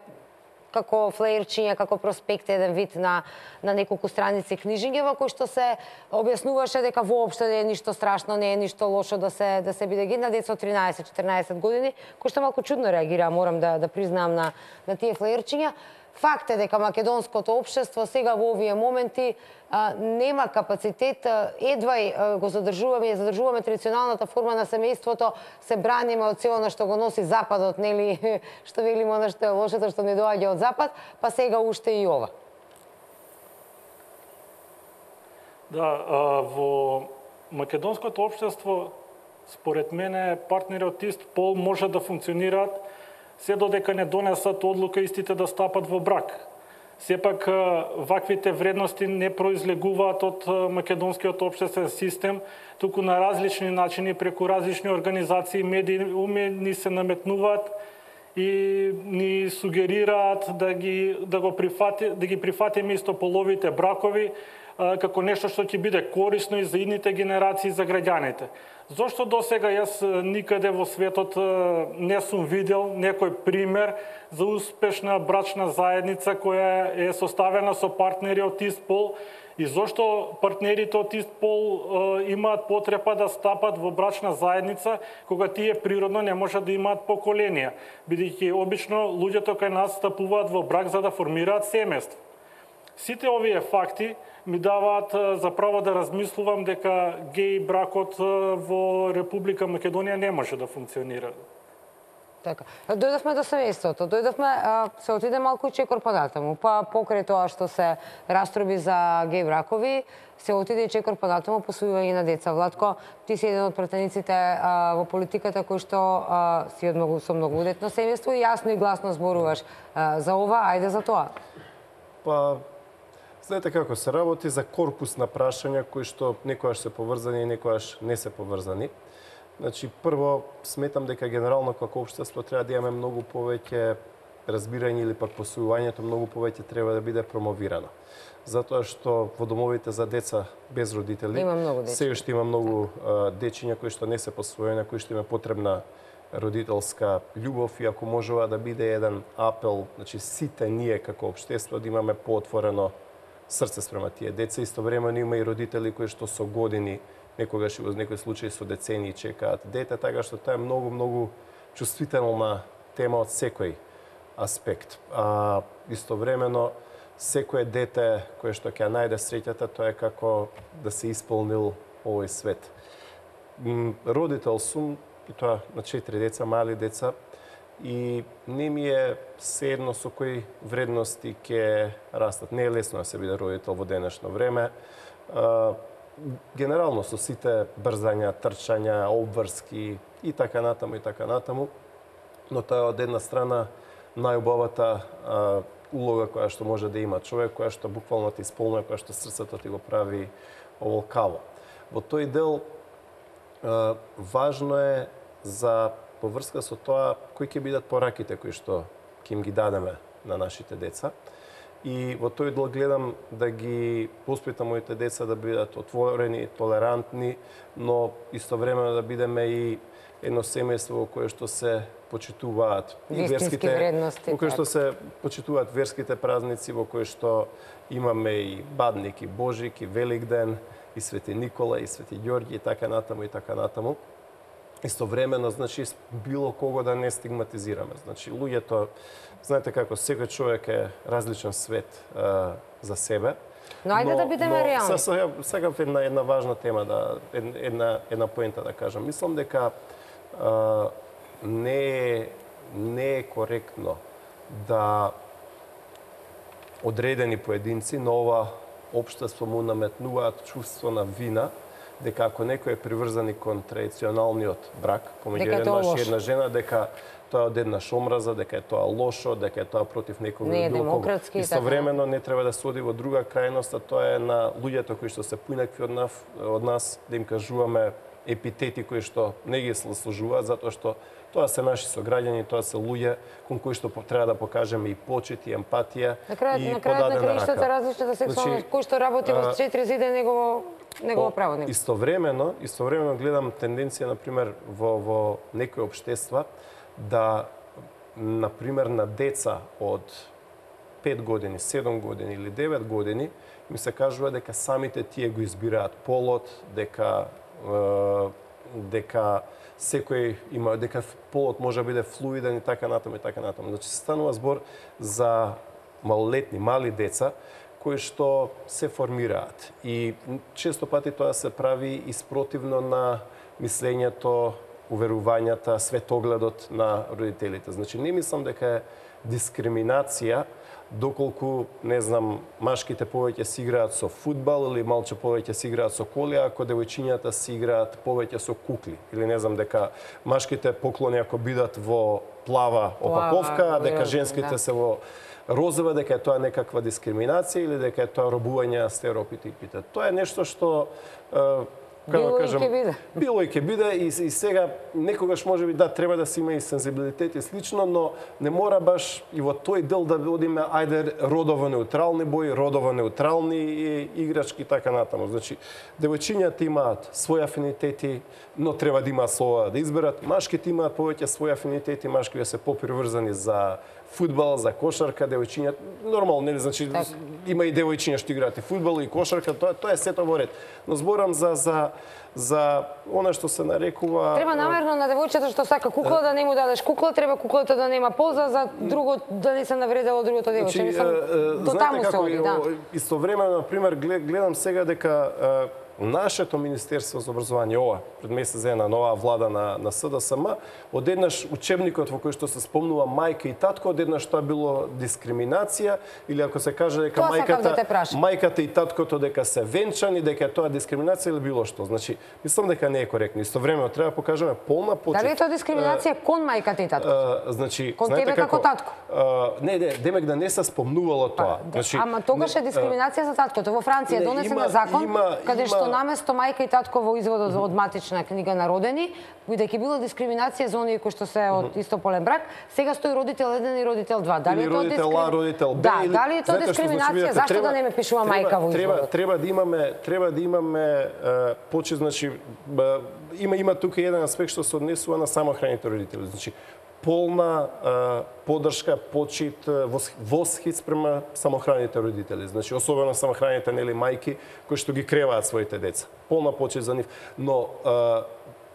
како флеерчиња, како проспект, еден вид на, на неколку страници книжиња во кој што се објаснуваше дека воопшто не е ништо страшно, не е ништо лошо да се да се биде ги на деца од тринаесет-четрнаесет години, кои што малку чудно реагираа, морам да да признаам на на тие флеерчиња. Факт е дека македонското општество сега во овие моменти а, нема капацитет, едва а, го задржуваме, ја задржуваме традиционалната форма на семејството, се браниме од се она што го носи Западот, нели, што велиме она што е лошото, што не доаѓа од Запад, па сега уште и ова. Да, а, во македонското општество, според мене, партнери од ист пол може да функционираат се додека не донесат одлука истите да стапат во брак. Сепак, ваквите вредности не произлегуваат од македонскиот општествен систем, туку на различни начини, преку различни организации, медии умени се наметнуваат и ни сугерираат да ги да го прифати, да ги прифатиме истополовите бракови како нешто што ќе биде корисно и за идните генерации, за граѓаните. Зошто до сега јас никаде во светот не сум видел некој пример за успешна брачна заедница која е составена со партнери од ист пол и зошто партнерите од ист пол имаат потреба да стапат во брачна заедница кога тие природно не можат да имаат поколенија, бидејќи обично луѓето кај нас стапуваат во брак за да формираат семејство. Сите овие факти ми даваат за право да размислувам дека геј бракот во Република Македонија не може да функционира. Така. Дојдовме до семејството, дојдовме, се отиде малку чекор податаму, па покрај тоа што се растроби за геј бракови, се отиде и чекор податаму посвојување на деца. Владко, ти си еден од пратениците а, во политиката кој што а, си од многу со многу удетно семејство и јасно и гласно зборуваш а, за ова, ајде за тоа. Па, знаете како се работи за корпус на прашања кои што некојаш се поврзани и некојаш не се поврзани. Значи, прво, сметам дека генерално како општество треба да имаме многу повеќе разбирање или пак посвојувањето многу повеќе треба да биде промовирано. Затоа што во домовите за деца без родители се уште има многу а, дечиња кои што не се посвоени, кои што има потребна родителска љубов и ако можува да биде еден апел, значи сите ние како општество да имаме поотворено срце спрема тие деца, истовремено има и родители кои што со години, некогаш и во некои случаи со децении чекаат дете, така што тоа е многу многу чувствителна тема од секој аспект. А истовремено секое дете кое што ќе најде среќата, тоа е како да се исполнил овој свет. родител сум, и тоа на четири деца, мали деца, и не ми е седно со кои вредности ќе растат. Не е лесно да се биде родител во денешно време. Генерално со сите брзања, трчања, обврски и така натаму и така натаму, но тоа е од една страна најубавата улога која што може да има човек, која што буквално ти исполнува, која што срцето ти го прави оволкаво. Во тој дел важно е за поврска со тоа кои ќе бидат пораките кои што ќе им ги дадеме на нашите деца. И во тој дел гледам да ги воспитам моите деца да бидат отворени, толерантни, но истовремено да бидеме и едно семејство во кое што се почитуваат и верските вредности, во кое што се почитуваат верските празници, во кое што имаме и Бадник, и Божик, и Великден, и Свети Никола, и Свети Ѓорѓи, и така натаму, и така натаму. Истовремено, значи, било кого да не стигматизираме. Значи, луѓето, знаете како, секој човек е различен свет а, за себе. Но ајде да бидеме реални. Сега, сега една, една важна тема, да, една, една поента да кажам. Мислам дека а, не, е, не е коректно да одредени поединци на ова општество му наметнуваат чувство на вина, дека ако некој е приврзан кон традиционалниот брак, помеѓу еден маж и една жена, дека тоа е од една омраза, дека е тоа лошо, дека е тоа против некој не е друг. демократски. Истовремено не треба да се оди во друга крајност, а тоа е на луѓето кои што се поинакви од нас, од нас да им кажуваме епитети кои што не ги заслужуваат, затоа што тоа се наши сограѓани, тоа се луѓе кон кои што треба да покажеме и почит, и емпатија, на крајот, и на крајот на подадена краиштата рака. различната сексуалност, Значи, кој што работи во четири зида негово негово право. Него. Истовремено, истовремено гледам тенденција, например, во, во некои општества, да, например, на деца од пет години, седум години или девет години, ми се кажува дека самите тие го избираат полот, дека е, дека секој има, дека полот може да биде флуиден и така натаму и така натаму. Значи се станува збор за малолетни, мали деца кои што се формираат. И често пати тоа се прави испротивно на мислењето, уверувањата, светогледот на родителите. Значи не мислам дека е дискриминација доколку, не знам, машките повеќе си играат со фудбал или малче повеќе си играат со коли, ако девојчињата си играат повеќе со кукли. Или не знам, дека машките поклони ако бидат во плава опаковка, а дека женските се во розова, дека е тоа некаква дискриминација или дека е тоа робување на стереотипите. Тоа е нешто што Било и ќе биде. Било и ќе биде и, и сега некогаш може би да треба да се има и сензибилитет и слично, но не мора баш и во тој дел да одиме ајде родово неутрални бои, родово неутрални играчки и така натаму. Значи девојчињата имаат своји афинитети, но треба да имаат слова да изберат. Машките имаат повеќе своји афинитети, машките се поприврзани за фудбал, за кошарка, девојчињата нормално, нели, значи так. Има и девојчиња што играат и фудбал и кошарка, тоа тоа е сето во ред. Но зборам за за за она што се нарекува Треба намерно на девојчето што сака кукла да не му дадеш кукла, треба куклата да нема полза за друго да не се навредело другото девојче. Значи, Мислам, до таму се оди, да. Истовремено, например, гледам сега дека нашето Министерство за образование, ова, пред месец една нова влада на, на СДСМ, одеднаш учебникот во кој што се спомнува мајка и татко, одеднаш тоа било дискриминација, или ако се каже дека тоа мајката, да мајката и таткото дека се венчани, дека тоа дискриминација или било што. Значи, мислам дека не е коректно. Истовремено треба да покажеме полна почит. Дали е тоа дискриминација кон мајката и таткото? Значи, кон тебе како татко? Не, не, демек да не се спомнувало тоа. Па, значи, ама тогаш е дискриминација за таткото. Во Франција донесен на закон има, каде има... што наместо мајка и татко во изводот од матична книга на родени, бидејќи била дискриминација за оние кои што се од истополен брак, сега стои родител еден и родител два. Дали е тоа родител А, родител Б? Да, дали е тоа дискриминација? Зашто да не ме пишува мајка во изводот? Треба треба да имаме треба да имаме почит, значи има има тука еден аспект што се однесува на самохраните родители. Значи полна а, поддршка, почит, восхит спрема самохраните родители. Значи, особено самохраните нели мајки кои што ги креваат своите деца. Полна почит за нив. Но а,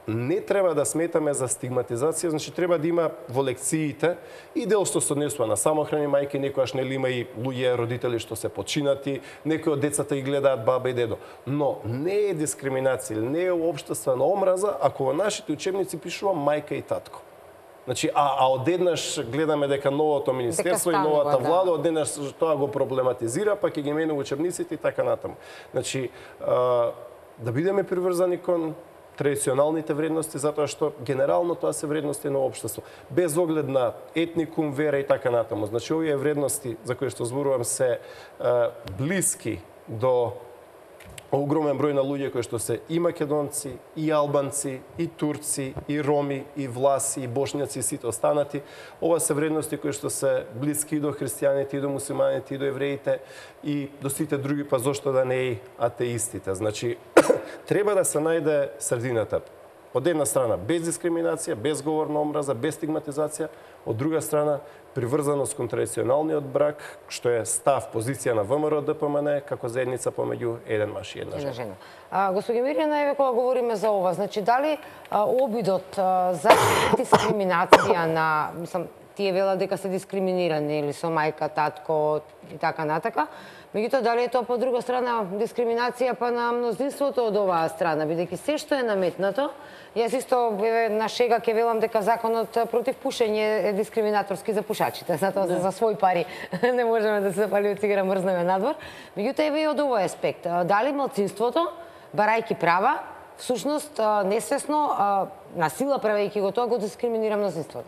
не треба да сметаме за стигматизација, значи треба да има во лекциите и дел што се однесува на самохрани мајки, некојаш нели има и луѓе родители што се починати, некои од децата ги гледаат баба и дедо. Но не е дискриминација, не е општествена омраза ако во нашите учебници пишува мајка и татко. Значи, а, а одеднаш гледаме дека новото министерство дека и новата станува, влада да. одеднаш тоа го проблематизира, па ќе ги менува учебниците и така натаму. Значи, а, да бидеме приврзани кон традиционалните вредности, затоа што генерално тоа се вредности на општество, без оглед на етникум, вера и така натаму. Значи, овие вредности за кои што зборувам се а, блиски до огромен број на луѓе кои што се и македонци, и албанци, и турци, и роми, и власи, и бошњаци, и сите останати. Ова се вредности кои што се блиски и до христијаните, и до мусулманите, и до евреите, и до сите други, па зошто да не и атеистите. Значи, треба да се најде средината. Од една страна без дискриминација, без говор на омраза, без стигматизација, од друга страна приврзаност кон традиционалниот брак, што е став, позиција на ВМРО Д П М Н како заедница помеѓу еден маж и една жена. жена. А, Господи Мирјана, еве кога говориме за ова, значи дали а, обидот а, за дискриминација на, мислам, тие велат дека се дискриминирани или со мајка, татко и така натака, меѓутоа дали е тоа по друга страна дискриминација па на мнозинството од оваа страна, бидејќи се што е наметнато, јас исто еве на шега ќе велам дека законот против пушење е дискриминаторски за пушачите, затоа да. за свој пари не можеме да се запалиме цигара мрзнеме надвор. Меѓутоа еве и од овој аспект, дали малцинството, барајќи права, всушност несвесно на сила правејќи го тоа го дискриминира мнозинството.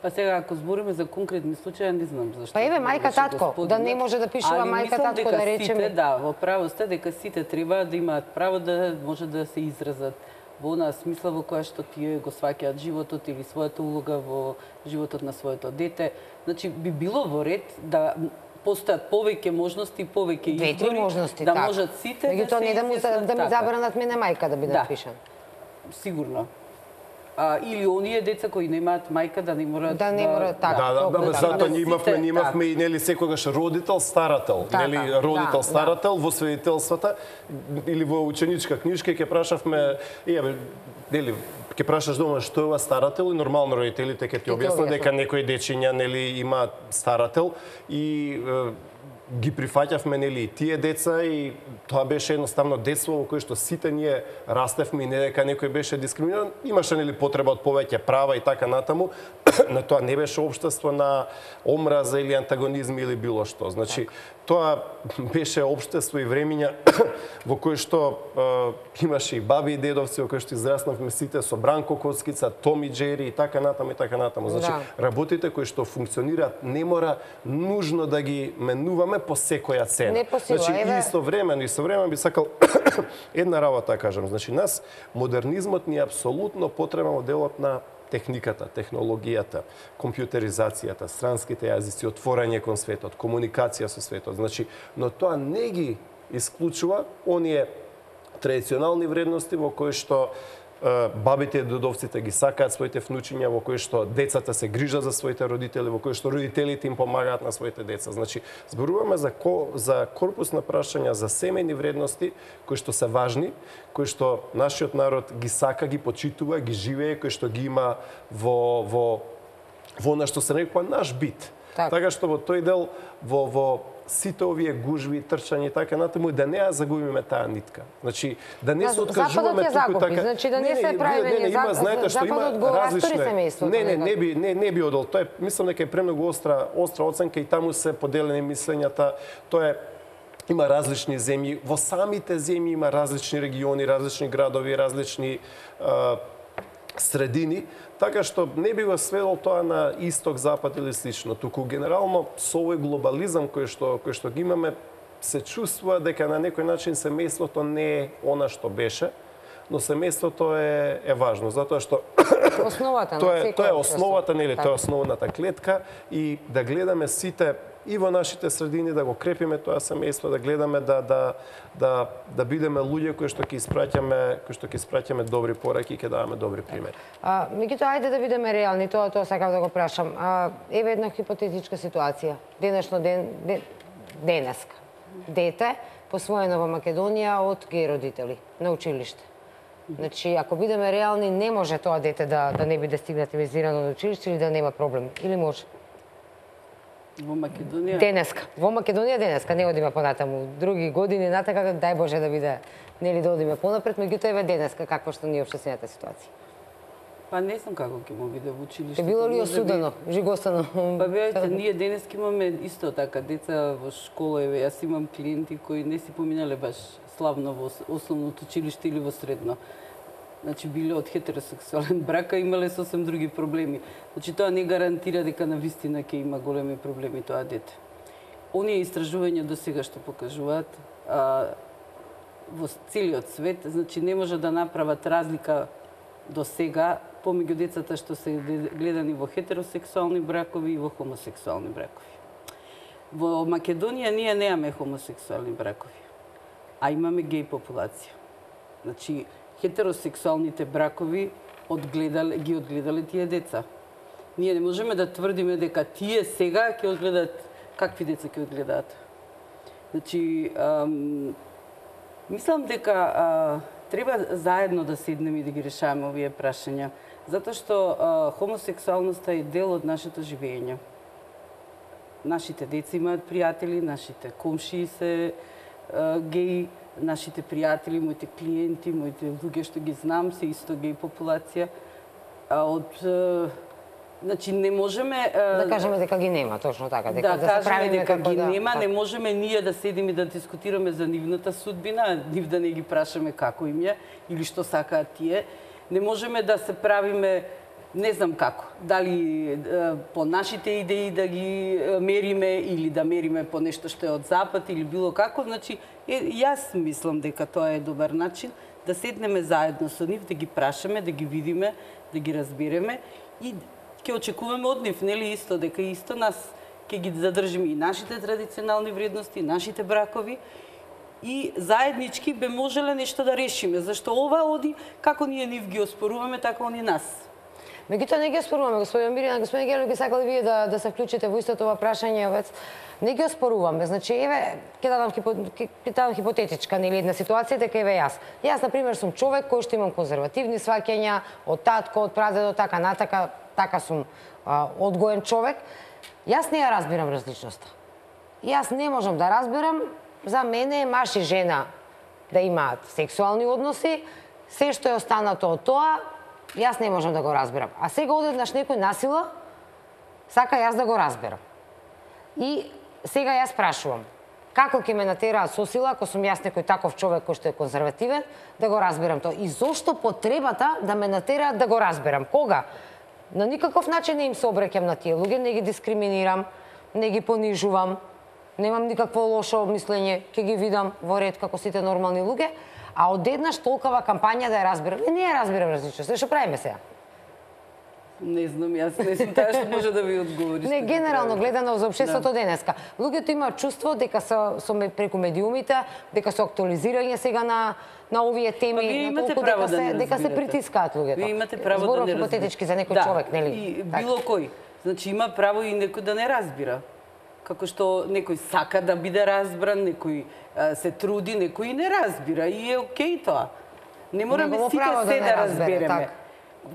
Па сега, ако збориме за конкретни случаи, не знам зашто. Па еве, мајка, татко, да не може да пишува мајка, татко, да речеме. Сите, да, во право сте дека сите треба да имаат право да може да се изразат во онаа смисла во која што тие го сваќаат животот или својата улога во животот на своето дете. Значи, би било во ред да постојат повеќе можности, повеќе избори, можности, да так. можат сите Меѓутоа да се не да му изјаснат да ми така. забранат мене мајка да биде Да. пишан. Сигурно. А, или оние деца кои немаат мајка да не мораат Да не мораат, така. Да, да, Толку, да, да. затоа ние имавме, Сите, ние имавме и нели секогаш родител, старател, Така, нели да, родител, да. старател во свидетелствата или во ученичка книжка ќе прашавме, еве, нели ќе прашаш дома што е ова старател и нормално родителите ќе ти И ти објаснат дека објаснат. некои дечиња нели имаат старател и е, ги прифаќавме нели и тие деца и тоа беше едноставно детство во кое што сите ние растевме и не дека некој беше дискриминиран, имаше нели потреба од повеќе права и така натаму, но тоа не беше општество на омраза или антагонизм или било што. Значи, тоа беше општество и времиња во кој што е, имаше и баби и дедовци, во кој што израснавме сите со Бранко Коцкица, Томи Джери и така натаму и така натаму. Значи, Да. работите кои што функционираат не мора нужно да ги менуваме по секоја цена. Не по сила, Значи, еве- истовремено, истовремено би сакал една работа да кажам. Значи, нас модернизмот ни е апсолутно потребен во делот на техниката, технологијата, компјутеризацијата, странските јазици, отворање кон светот, комуникација со светот. Значи, но тоа не ги исклучува оние традиционални вредности во кои што е, бабите и дедовците ги сакаат своите внучиња, во кои што децата се грижат за своите родители, во кои што родителите им помагаат на своите деца. Значи, зборуваме за ко, за корпус на прашања за семејни вредности кои што се важни, кои што нашиот народ ги сака, ги почитува, ги живее, кои што ги има во во во она што се нарекува наш бит. Така. Така што во тој дел во во сите овие гужви, трчања и така натаму, да не ја загубиме таа нитка. Значи, да не Да, се откажуваме Западот ја туку загуби, така. значи да не се правиме не, не, ние. има, За- знаете што има Западот го растори различни. семејството Не, не, не некако. би не не би одел. Тоа е мислам дека е премногу остра остра оценка и таму се поделени мислењата. Тоа е има различни земји, во самите земји има различни региони, различни градови, различни а, средини, така што не би го сведол тоа на исток, запад или слично, туку генерално со овој глобализам кој што кој што ги имаме се чувствува дека на некој начин семејството не е она што беше, но семејството е е важно затоа што Основата на тоа е секој тоа е општество. основата, нели, Така. тоа е основната клетка и да гледаме сите и во нашите средини да го крепиме тоа семејство, да гледаме да да да да бидеме луѓе кои што ќе испраќаме кои што ќе испраќаме добри пораки и ќе даваме добри примери. А, меѓутоа, ајде да бидеме реални, тоа тоа сакав да го прашам. А, еве една хипотетичка ситуација. Денешно ден, ден денеска. Дете посвоено во Македонија од геј родители на училиште. Значи, ако бидеме реални, не може тоа дете да, да не биде стигматизирано до училиште или да нема проблем. Или може? Во Македонија? Денеска. Во Македонија денеска, не одиме понатаму. Други години натака, дај Боже да биде, нели да одиме понапред, меѓутоа еве денеска, каква што ни е општествената ситуација. Па не знам како ќе му биде во училиште. Ке било ли осудено, би... жигостано? Па бејте, ние денеска имаме исто така деца во школа, еве јас имам клиенти кои не си поминале баш славно во основното училиште или во средно. Значи биле од хетеросексуален брак, а имале сосем други проблеми. Значи тоа не гарантира дека на вистина ќе има големи проблеми тоа дете. Оние истражувања до сега што покажуваат а, во целиот свет, значи не може да направат разлика до сега помеѓу децата што се гледани во хетеросексуални бракови и во хомосексуални бракови. Во Македонија ние немаме хомосексуални бракови, а имаме геј популација. Значи, хетеросексуалните бракови одгледале, ги одгледале тие деца. Ние не можеме да тврдиме дека тие сега ќе одгледат, какви деца ќе одгледаат. Значи, ам, мислам дека а, треба заедно да седнеме и да ги решаваме овие прашања, затоа што а, хомосексуалноста е дел од нашето живење. Нашите деца имаат пријатели, нашите комшии се а, геи, нашите пријатели, моите клиенти, моите луѓе што ги знам, се исто геј популација. А од значи не можеме да кажеме дека ги нема, точно така, дека да, да се правиме дека како ги да нема, не можеме ние да седиме и да дискутираме за нивната судбина, нив да не ги прашаме како им е или што сакаат тие. Не можеме да се правиме не знам како, дали по нашите идеи да ги мериме или да мериме по нешто што е од запад или било како, значи е, јас мислам дека тоа е добар начин да седнеме заедно со нив, да ги прашаме, да ги видиме, да ги разбереме и ќе очекуваме од нив, нели исто дека исто нас ќе ги задржиме и нашите традиционални вредности, нашите бракови и заеднички бе можеле нешто да решиме, зашто ова оди како ние нив ги оспоруваме, така они нас. Меѓутоа не ги оспоруваме, господин Мирина, господин Гелев, ги сакали вие да да се вклучите во истото ова прашање, вец. Не ги оспоруваме. Значи, еве, ќе дадам ќе дадам хипотетичка, нели една ситуација дека еве јас. Јас на пример сум човек кој што имам конзервативни сваќања од татко, од прадедо, така натака, така сум а, одгоен човек. Јас не ја разбирам различноста. Јас не можам да разберам, за мене маж и жена да имаат сексуални односи, се што е останато од тоа, јас не можам да го разберам. А сега одеднаш некој насила сака јас да го разберам. И сега јас прашувам, како ќе ме натераат со сила, ако сум јас некој таков човек кој што е конзервативен, да го разберам тоа? И зошто потребата да ме натераат да го разберам? Кога? На никаков начин не им се обраќам на тие луѓе, не ги дискриминирам, не ги понижувам, немам никакво лошо мислење, ќе ги видам во ред како сите нормални луѓе, а одеднаш толкова кампања да ја разберам. Не, не ја разберам различност. Што правиме сега? Не знам, јас не сум таа што може да ви одговори. Не, генерално гледано за општеството да. Денеска. Луѓето имаат чувство дека со, со преку медиумите, дека се актуализирање сега на на овие теми, па, на толку дека, да се, дека се притискаат луѓето. Вие имате право Зборов да не хипотетички за некој да, човек, нели? И било кој. Значи има право и некој да не разбира. Како што некој сака да биде разбран, некој а, се труди, некој не разбира и е окей тоа. Не мораме сите се да, да разбереме. Так.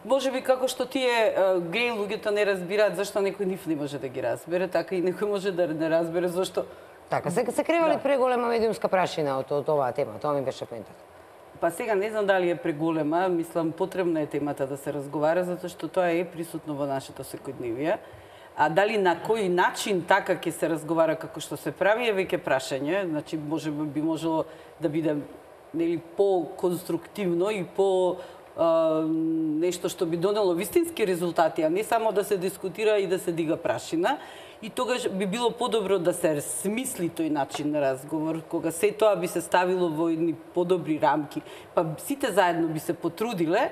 Може би како што тие геј луѓето не разбираат зашто некој нив не може да ги разбере, така и некој може да не разбере зашто. Така, се, се кревали да. Преголема медиумска прашина од, од оваа тема, тоа ми беше поентата. Па сега не знам дали е преголема, мислам потребна е темата да се разговара, затоа што тоа е присутно во нашето секојдневие. А дали на кој начин така ќе се разговара како што се прави е веќе прашање, значи може би можело да биде нели по-конструктивно и по а, нешто што би донело вистински резултати, а не само да се дискутира и да се дига прашина. И тогаш би било подобро да се смисли тој начин на разговор, кога се тоа би се ставило во едни подобри рамки, па сите заедно би се потрудиле,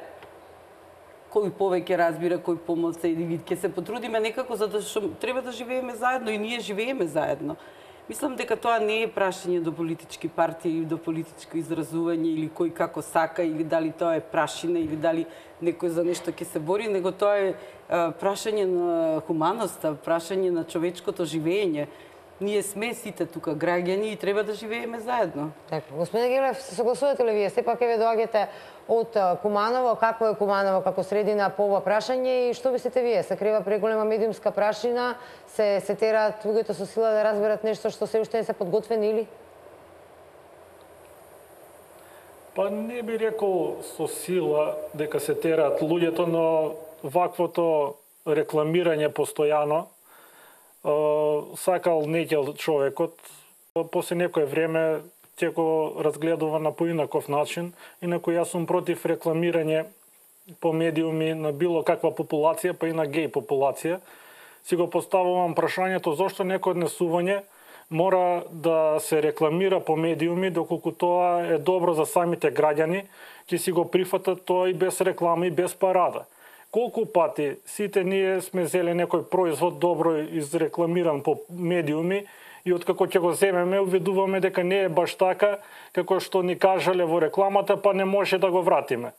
кој повеќе разбира, кој помалку и ќе се потрудиме некако затоа што треба да живееме заедно и ние живееме заедно. Мислам дека тоа не е прашање до политички партии или до политичко изразување или кој како сака или дали тоа е прашина или дали некој за нешто ќе се бори, него тоа е а, прашање на хуманоста, прашање на човечкото живење. Ние сме сите тука граѓани и треба да живееме заедно. Така, господин Гелев, се согласувате ли вие? Сепак еве доаѓате од Куманово, какво е Куманово како средина по ова прашање и што мислите вие? Се крива преголема медиумска прашина, се се тераат луѓето со сила да разберат нешто што се уште не се подготвени или? Па не би рекол со сила дека се тераат луѓето, но ваквото рекламирање постојано сакал некел човекот, после некое време ќе го разгледува на поинаков начин, инаку јас сум против рекламирање по медиуми на било каква популација, па и на геј популација. Си го поставувам прашањето зошто некој однесување мора да се рекламира по медиуми, доколку тоа е добро за самите граѓани, ќе си го прифатат тоа и без реклама и без парада. Колку пати сите ние сме зеле некој производ добро изрекламиран по медиуми и откако ќе го земеме, уведуваме дека не е баш така, како што ни кажале во рекламата, па не може да го вратиме.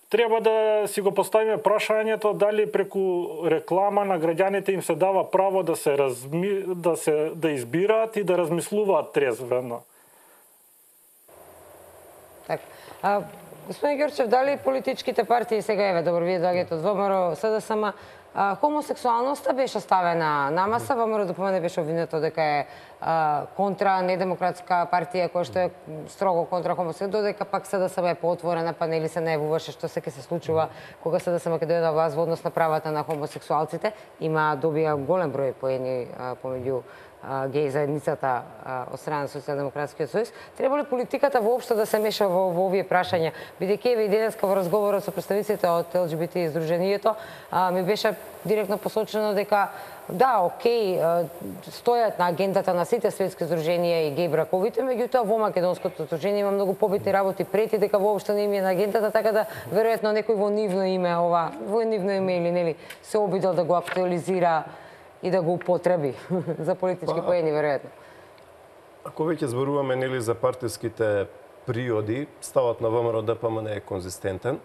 Треба да си го поставиме прашањето дали преку реклама на граѓаните им се дава право да се разми... да се да избираат и да размислуваат трезвено. Така. А господин Ѓорчев, дали политичките партии сега еве добро вие доаѓате од ВМРО, СДСМ, хомосексуалноста беше ставена на маса, ВМРО ДПМН беше обвинето дека е а, контра недемократска партија која што е строго контра хомосексуалност, додека пак СДСМ е поотворена, па нели се најавуваше што се ќе се случува кога СДСМ ќе дојде на власт во однос на правата на хомосексуалците. Има добија голем број поени помеѓу геј заедницата од страна на Социјалдемократскиот сојуз. Треба ли политиката воопшто да се меша во, во овие прашања? Бидејќи еве и денеска во разговорот со представниците од Ел Џи Би Ти издруженијето ми беше директно посочено дека да, окей, стојат на агендата на сите светски здруженија и геј браковите, меѓутоа во македонското здружение има многу побитни работи пред и дека воопшто не им е на агендата, така да веројатно некој во нивно име ова, во нивно име или нели се обидел да го актуализира и да го употреби за политички поени, веројатно. Ако веќе зборуваме нели за партиските приоди, ставот на ВМРО ДПМН е конзистентен.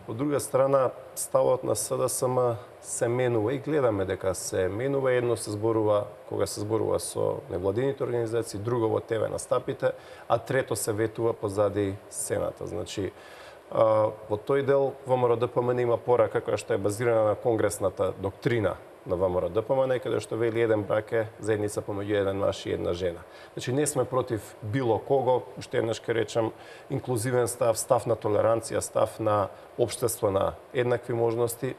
Од друга страна, ставот на СДСМ се менува и гледаме дека се менува. Едно се зборува кога се зборува со невладините организации, друго во ТВ настапите, а трето се ветува позади сцената. Значи, во тој дел ВМРО ДПМН има порака која што е базирана на конгресната доктрина на ВМРО ДПМН, каде што вели еден брак е заедница помеѓу еден маж и една жена. Значи не сме против било кого, уште еднаш ќе речам, инклузивен став, став на толеранција, став на општество на еднакви можности.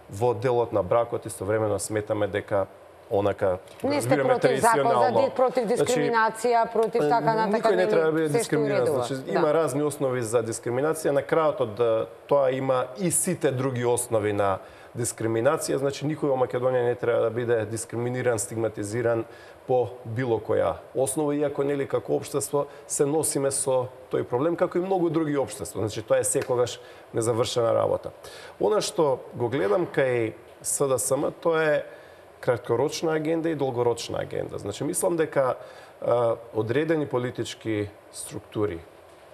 Во делот на бракот истовремено сметаме дека онака не сте против закон за против дискриминација, значи, против така натака. Никој не треба да биде дискриминиран. Значи, да. Има разни основи за дискриминација. На крајот од тоа има и сите други основи на дискриминација, значи никој во Македонија не треба да биде дискриминиран, стигматизиран по било која основа, иако нели како општество се носиме со тој проблем, како и многу други општества. Значи тоа е секогаш незавршена работа. Она што го гледам кај СДСМ, тоа е краткорочна агенда и долгорочна агенда. Значи мислам дека а, одредени политички структури,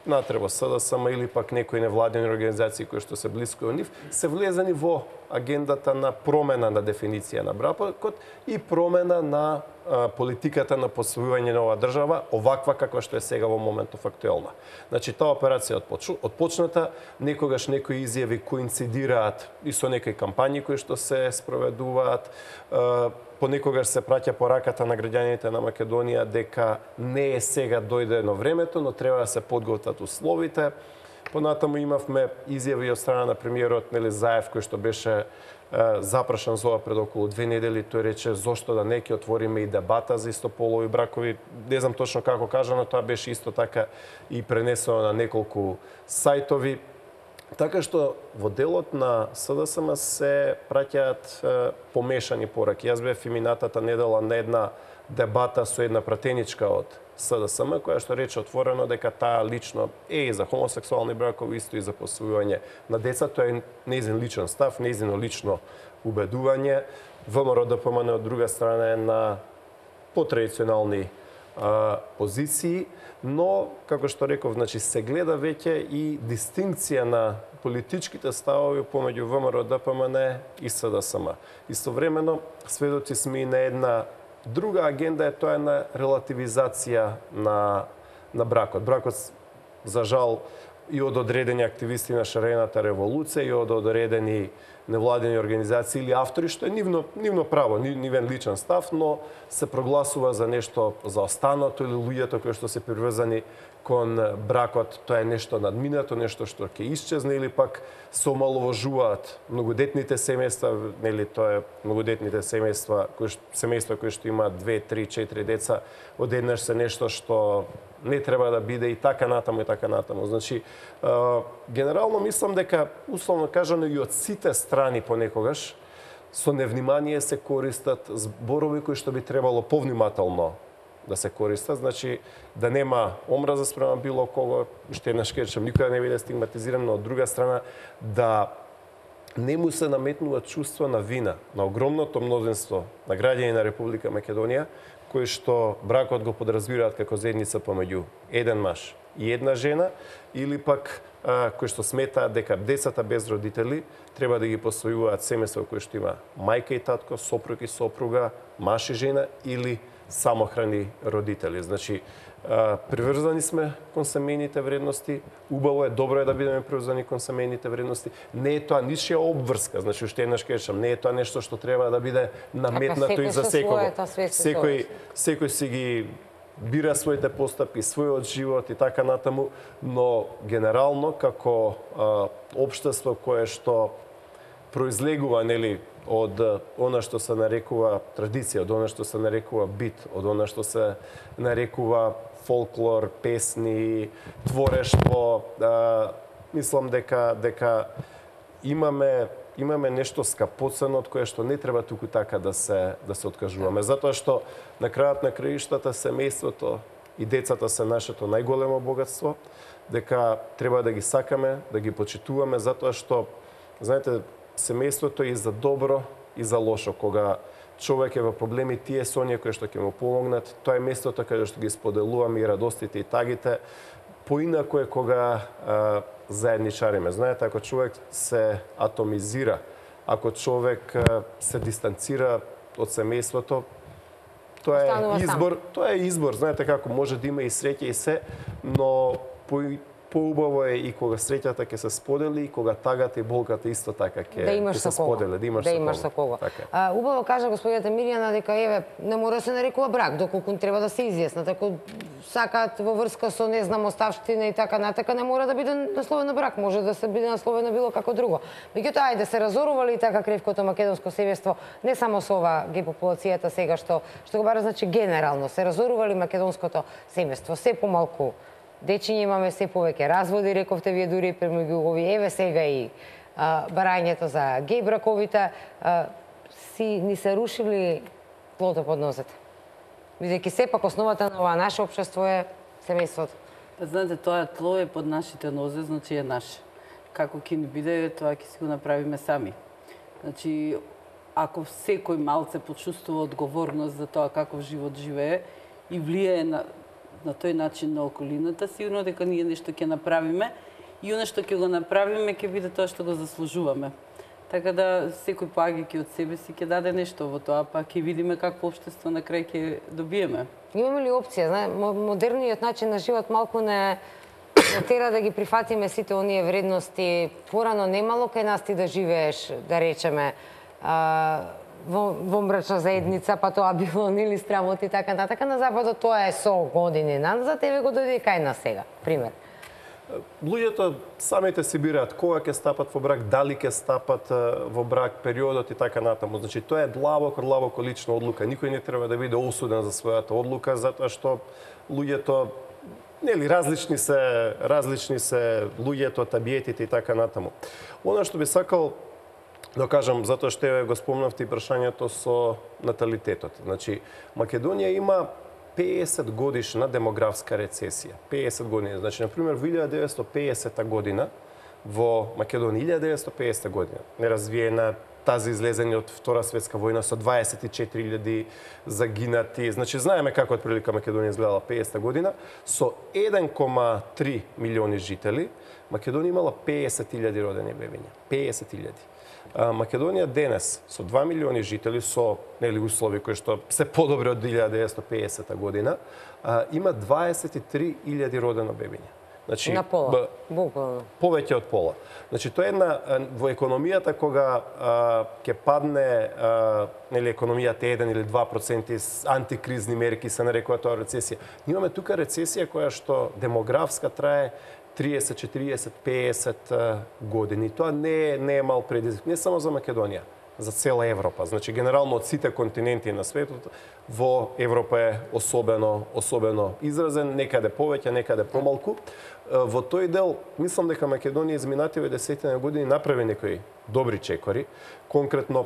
натреба СДСМ или пак некои невладени организации кои што се блиско од нив, се влезени во агендата на промена на дефиниција на бракот и промена на а, политиката на посвојување на оваа држава, оваква каква што е сега во моментов актуелна. Значи, таа операција отпочната, некогаш некои изјави коинцидираат и со некои кампањи кои што се спроведуваат, а, понекогаш се праќа пораката на граѓаните на Македонија дека не е сега дојдено времето, но треба да се подготват условите. Понатаму имавме изјави од страна на премиерот Нели Заев, кој што беше е, запрашан за ова пред околу две недели. Тој рече зошто да не ќе отвориме и дебата за истополови бракови. Не знам точно како кажано, тоа беше исто така и пренесено на неколку сајтови. Така што во делот на СДСМ се праќаат е, помешани пораки. Јас бев и минатата недела на една дебата со една пратеничка од СДСМ, која што рече отворено дека таа лично е и за хомосексуални бракови, исто и за посвојување на деца. Тоа е нејзин личен став, нејзино лично убедување. ВМРО ДПМН од друга страна е на потрадиционални а, позиции, но, како што реков, значи, се гледа веќе и дистинкција на политичките ставови помеѓу ВМРО ДПМН и СДСМ. Истовремено, сведоци сме и на една Друга агенда е тоа на релативизација на, на бракот. Бракот, за жал, и од одредени активисти на шарената револуција, и од одредени невладени организации или автори, што е нивно, нивно право, нивен личен став, но се прогласува за нешто заостанато или луѓето кои што се приврзани кон бракот, тоа е нешто надминато, нешто што ќе исчезне, или пак се омаловажуваат многодетните семејства, нели тоа е многодетните семејства, кои семејства кои што имаат две, три, четири деца, одеднаш се нешто што не треба да биде и така натаму и така натаму. Значи, генерално мислам дека, условно кажано, и од сите страни понекогаш, со невнимание се користат зборови кои што би требало повнимателно да се користат. Значи, да нема омраза спрема било кого, што еднаш кажам, никој не биде стигматизиран, но од друга страна, да не му се наметнува чувство на вина на огромното мнозинство на граѓани на Република Македонија, кои што бракот го подразбираат како заедница помеѓу еден маж и една жена, или пак а, кои што сметаат дека децата без родители треба да ги посвојуваат семејства кои што има мајка и татко, сопруг и сопруга, маж и жена или самохрани родители. Значи, а, приврзани сме кон семејните вредности, убаво е, добро е да бидеме приврзани кон семејните вредности. Не е тоа ничија обврска, значи уште еднаш кажам, не е тоа нешто што треба да биде наметнато и за секого. Секој секој си ги бира своите постапки, својот живот и така натаму, но генерално како а, општество кое што произлегува, нели, од она што се нарекува традиција, од она што се нарекува бит, од она што се нарекува фолклор, песни, творештво, а, мислам дека дека имаме имаме нешто скапоцено од кое што не треба туку така да се да се откажуваме, затоа што на крајот на краиштата семејството и децата се нашето најголемо богатство, дека треба да ги сакаме, да ги почитуваме, затоа што, знаете, семејството е и за добро и за лошо. Кога човек е во проблеми, тие се оние кои што ќе му помогнат. Тоа е местото каде што ги споделуваме и радостите и тагите. Поинако е кога а, заедничариме. Знаете, ако човек се атомизира, ако човек а, се дистанцира од семејството, тоа е избор, тоа е избор. Знаете како може да има и среќа и се, но по поубаво е и кога среќата ќе се сподели и кога тагата и болката исто така ќе да се споделе, да имаш да со имаш со кого. Така. А, убаво кажа господината Мирјана дека еве не мора да се нарекува брак, доколку треба да се изјаснат. Ако сакаат во врска со не знам оставштина и така натака, не мора да биде насловено брак, може да се биде насловено било како друго. Меѓутоа ајде се разорували и така кревкото македонско семејство, не само со ова гей популацијата сега што што го бара, значи генерално се разорували македонското семејство, се помалку дечиња имаме, се повеќе разводи, рековте вие дури премеѓу овие, еве сега и а, барањето за гей браковите, а, си ни се рушили тлото под нозете. Бидејќи сепак основата на ова наше општество е семејството. Па знаете, тоа тло е под нашите нозе, значи е наше. Како ќе ни биде, тоа ќе си го направиме сами. Значи, ако секој малце почувствува одговорност за тоа каков живот живее и влијае на на тој начин на околината, сигурно дека ние нешто ќе направиме и оно што ќе го направиме ќе биде тоа што го заслужуваме. Така да секој поаѓајќи од себе си ќе даде нешто во тоа, па ќе видиме какво општество на крај ќе добиеме. Имаме ли опција, знае, модерниот начин на живот малку не тера да ги прифатиме сите оние вредности. Порано немало кај нас ти да живееш, да речеме, а, во, во мрачна заедница, па тоа било нели страмот и така натака. На западот тоа е со години назад, еве го дојде кај нас сега, пример. Луѓето самите си бираат кога ќе стапат во брак, дали ќе стапат во брак, периодот и така натаму. Значи тоа е длабоко, длабоко лична одлука. Никој не треба да биде осуден за својата одлука, затоа што луѓето нели различни се, различни се луѓето, табиетите и така натаму. Она што би сакал да кажам, затоа што го спомнавте и прашањето со наталитетот. Значи, Македонија има пеесет годишна демографска рецесија. пеесет години. Значи, например, во илјада деветстотини и пеесета година во Македонија, илјада деветстотини и пеесета година, неразвиена, тази излезени од Втора светска војна со дваесет и четири илјади загинати. Значи, знаеме како отприлика Македонија изгледала пеесета година, со еден кома три милиони жители, Македонија имала пеесет илјади родени бебиња. пеесет илјади. Македонија денес со два милиони жители, со нели услови кои што се подобри од илјада деветстотини и пеесета година, има дваесет и три илјади родено бебиња. Значи, на пола, буквално. Повеќе од пола. Значи, тоа е една, во економијата кога ќе падне а, нели, економијата еден или два проценти антикризни мерки, се нарекува тоа рецесија. Имаме тука рецесија која што демографска трае триесет, четириесет, пеесет години. Тоа не е, не е мал предизвик, не само за Македонија, за цела Европа. Значи, генерално од сите континенти на светот, во Европа е особено, особено изразен, некаде повеќе, некаде помалку. Во тој дел, мислам дека Македонија изминативе десетина години направи некои добри чекори. Конкретно,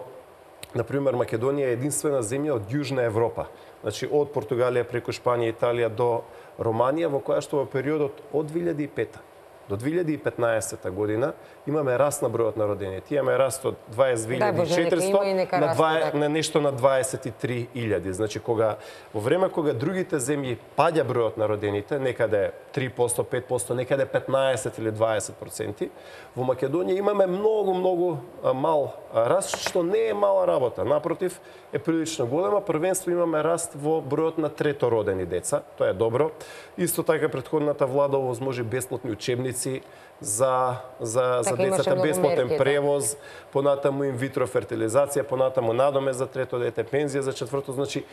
например, Македонија е единствена земја од Јужна Европа. Значи, од Португалија преку Шпанија, Италија до Романија, во која што во периодот од две илјади и пета до две илјади и петнаесета година имаме раст на бројот на родените. Имаме раст од дваесет две илјади и четиристотини на, два, на нешто на дваесет и три илјади. Значи, кога, во време кога другите земји паѓа бројот на родените, некаде три проценти, пет проценти, некаде петнаесет или дваесет проценти, во Македонија имаме многу, многу мал раст, што не е мала работа. Напротив, е прилично голема. Првенство имаме раст во бројот на третородени деца. Тоа е добро. Исто така претходната влада овозможи бесплатни учебници за за за децата, бесплатен превоз, понатаму инвитро фертилизација, понатаму надоме за трето дете, пензија за четврто, значи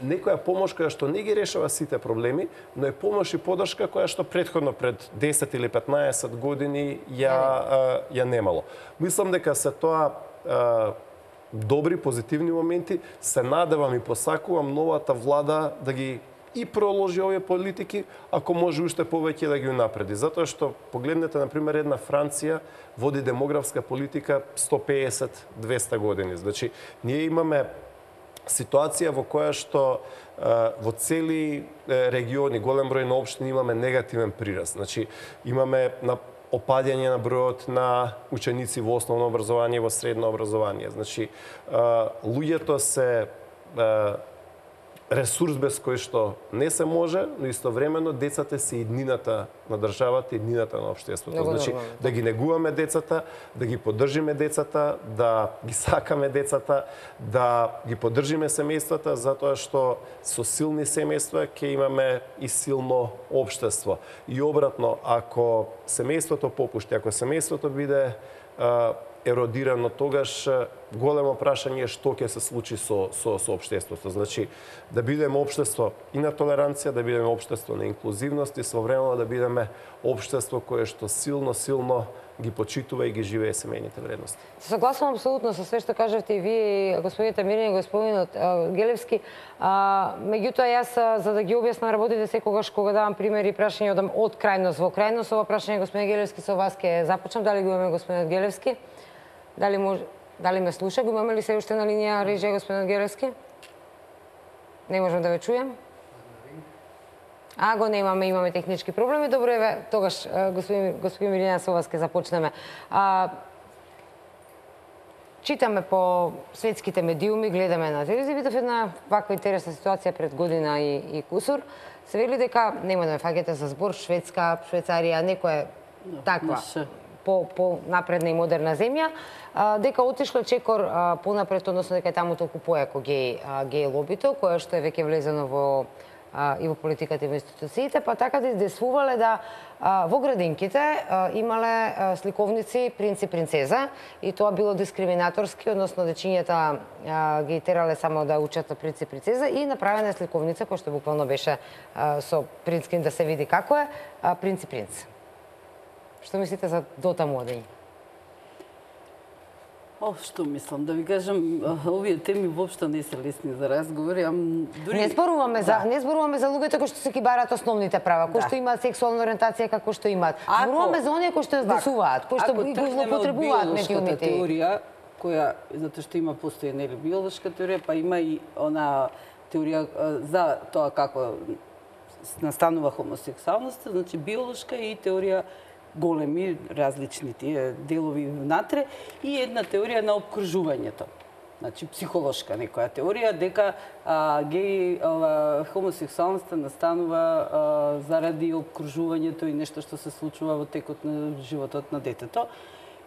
некоја помош која што не ги решава сите проблеми, но е помош и поддршка која што претходно пред десет или петнаесет години ја ја немало. Мислам дека се тоа добри позитивни моменти, се надевам и посакувам новата влада да ги и проложи овие политики, ако може уште повеќе да ги унапреди. Затоа што погледнете, например, една Франција води демографска политика сто пеесет до двесте години. Значи, ние имаме ситуација во која што во цели региони, голем број на општини имаме негативен прираст. Значи, имаме на опаѓање на бројот на ученици во основно образование и во средно образование. Значи, луѓето се ресурс без кој што не се може, но истовремено децата се иднината на државата, иднината на општеството. Много Значи, нормално. да ги негуваме децата, да ги поддржиме децата, да ги сакаме децата, да ги поддржиме семејствата, затоа што со силни семејства ќе имаме и силно општество. И обратно, ако семејството попушти, ако семејството биде а, еродирано, тогаш големо прашање е што ќе се случи со, со, со општеството. Значи, да бидеме општество и на толеранција, да бидеме општество на инклузивност и современо да бидеме општество кое што силно, силно ги почитува и ги живее семејните вредности. Согласувам апсолутно со све што кажавте и вие, господините Мирин и господинот Гелевски. А, меѓутоа, јас, за да ги објаснам работите, секогаш кога давам примери и прашања одам од крајност во крајност, ова прашање, господин Гелевски, со вас ќе започнам. Дали го имаме господинот Гелевски? Дали може, дали ме слуша? Го имаме ли се уште на линија режија господинот Гелевски? Не можам да ве чуjem. А, го немаме, имаме технички проблеми. Добро, еве, тогаш, господин, господин Милина, со вас ќе започнеме. А, читаме по светските медиуми, гледаме на телевизија, видов една ваква интересна ситуација пред година и, и кусур. Се вели дека, нема да ме фаќате за збор, Шведска, Швейцарија, некоја таква по, по напредна и модерна земја, а, дека отишло чекор а, понапред, односно дека е таму толку појако геј, а, геј лобито, кое што е веќе влезено во а, и во политиката и во институциите, па така да издесвувале да а, во градинките а, имале а, сликовници принц и принцеза и тоа било дискриминаторски, односно дечињата а, ги терале само да учат принц и принцеза и направена сликовница која што буквално беше а, со принцкин да се види како е, а, принц и принц. Што мислите за дотаму одење? О, што мислам, да ви кажам, овие теми воопшто не се лесни за разговори, ам дури Не зборуваме за да. не зборуваме за луѓето кои што се ги бараат основните права, кои Да. што имаат сексуална ориентација како што имаат. Ако- Зборуваме за оние кои што ја здесуваат, кои што Ако го тргнеме од злоупотребуваат биолошката медиумите. теорија, која затоа што има постои нели биолошка теорија, па има и она теорија а, за тоа како настанува хомосексуалноста, значи биолошка и теорија големи, различни тие делови внатре и една теорија на обкружувањето. Значи психолошка некоја теорија дека а, геј ова, хомосексуалноста настанува а, заради обкружувањето и нешто што се случува во текот на животот на детето.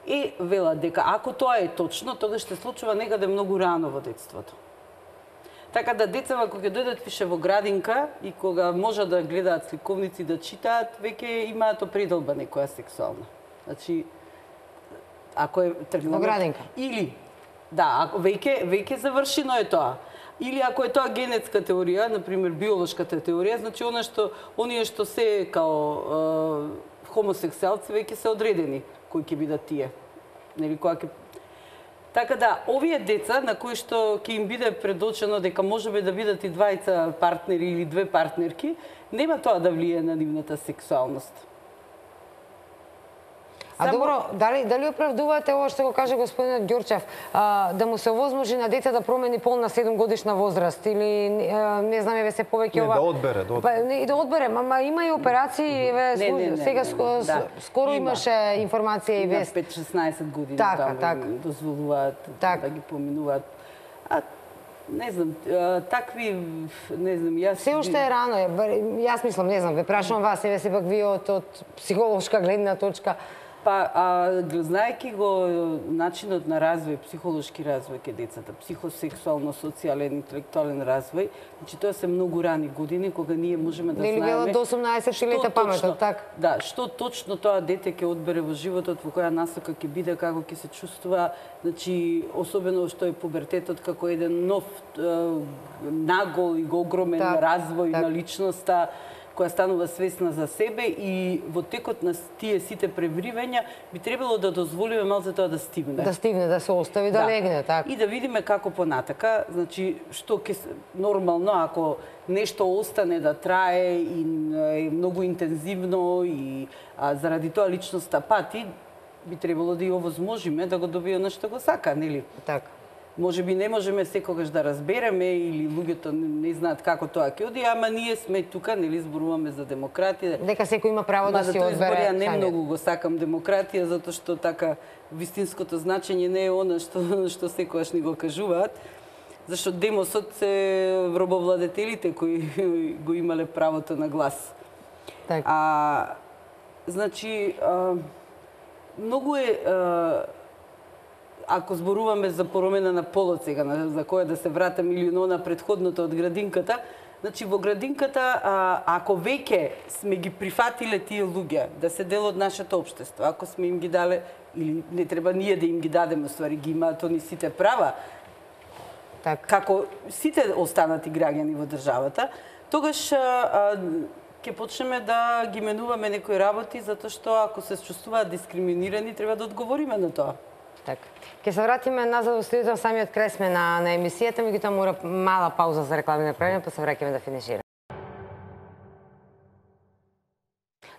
И велат дека ако тоа е точно, тогаш ще случува некаде многу рано во детството. Така да децава кога ќе дојдат више во градинка и кога можат да гледаат сликовници, да читаат, веќе имаат определба некоја сексуална. Значи, ако е тргнало... Во градинка. Или, да, ако веќе, веќе завршено е тоа. Или ако е тоа генетска теорија, например биолошката теорија, значи она што оние што се као е, хомосексуалци веќе се одредени кои ќе бидат тие. Нели кога ќе Така да, овие деца на кои што ќе им биде предочено дека можеби да бидат и двајца партнери или две партнерки, нема тоа да влие на нивната сексуалност. А Само... добро, дали дали оправдувате ова што го каже господинот Ѓорчев, а, да му се овозможи на дете да промени пол на седум годишна возраст или а, не знам еве се повеќе ова. Не, да одбере, да одбере. Па, не, и да одбере, мама има и операции, еве не, не, не, сега не, ско, да. скоро Има. имаше информација и вест. пет-шеснаесет години Така, таму така. дозволуваат Так. да ги поминуваат. А не знам, а, такви, не знам, јас... Се уште е рано, е, јас мислам, не знам, ве прашувам вас, еве сепак вие од, од психолошка гледна точка. Па, а, знаеки го начинот на развој, психолошки развој ке децата, психосексуално, социјален, интелектуален развој, значи тоа се многу рани години кога ние можеме да Нели знаеме... велат до осумнаесет лета паметот, така? Да, што точно тоа дете ќе одбере во животот, во која насока ќе биде, како ќе се чувствува, значи особено што е пубертетот како еден нов е, нагол и огромен Так, развој так. на личноста, која станува свесна за себе и во текот на тие сите превривања би требало да дозволиме малце тоа да стигне. Да стигне, да се остави, да, да легне, така. И да видиме како понатака, значи што ќе нормално ако нешто остане да трае и е многу интензивно и а, заради тоа личноста пати, би требало да ја овозможиме да го добие она што го сака, нели? Така. Може би не можеме секогаш да разбереме или луѓето не знаат како тоа ќе оди, ама ние сме тука, нели зборуваме за демократија. Дека секој има право да си одбере. одбере. Ја не самиот. многу го сакам демократија затоа што така вистинското значење не е она што што секогаш ни го кажуваат. Зашто демосот се робовладетелите кои го имале правото на глас. Так. А значи а, многу е а, ако зборуваме за промена на полот сега, за која да се вратам или на предходното од градинката, значи во градинката, а, ако веќе сме ги прифатиле тие луѓе да се дел од нашето општество, ако сме им ги дале, или не треба ние да им ги дадеме, ствари ги имаат они сите права, Так. како сите останати граѓани во државата, тогаш а, ќе почнеме да ги менуваме некои работи, затоа што ако се чувствуваат дискриминирани, треба да одговориме на тоа. Така. Ке се вратиме назад во студиото, самиот крај сме на, на емисијата, меѓутоа мора мала пауза за реклами направиме, па се враќаме да финишираме.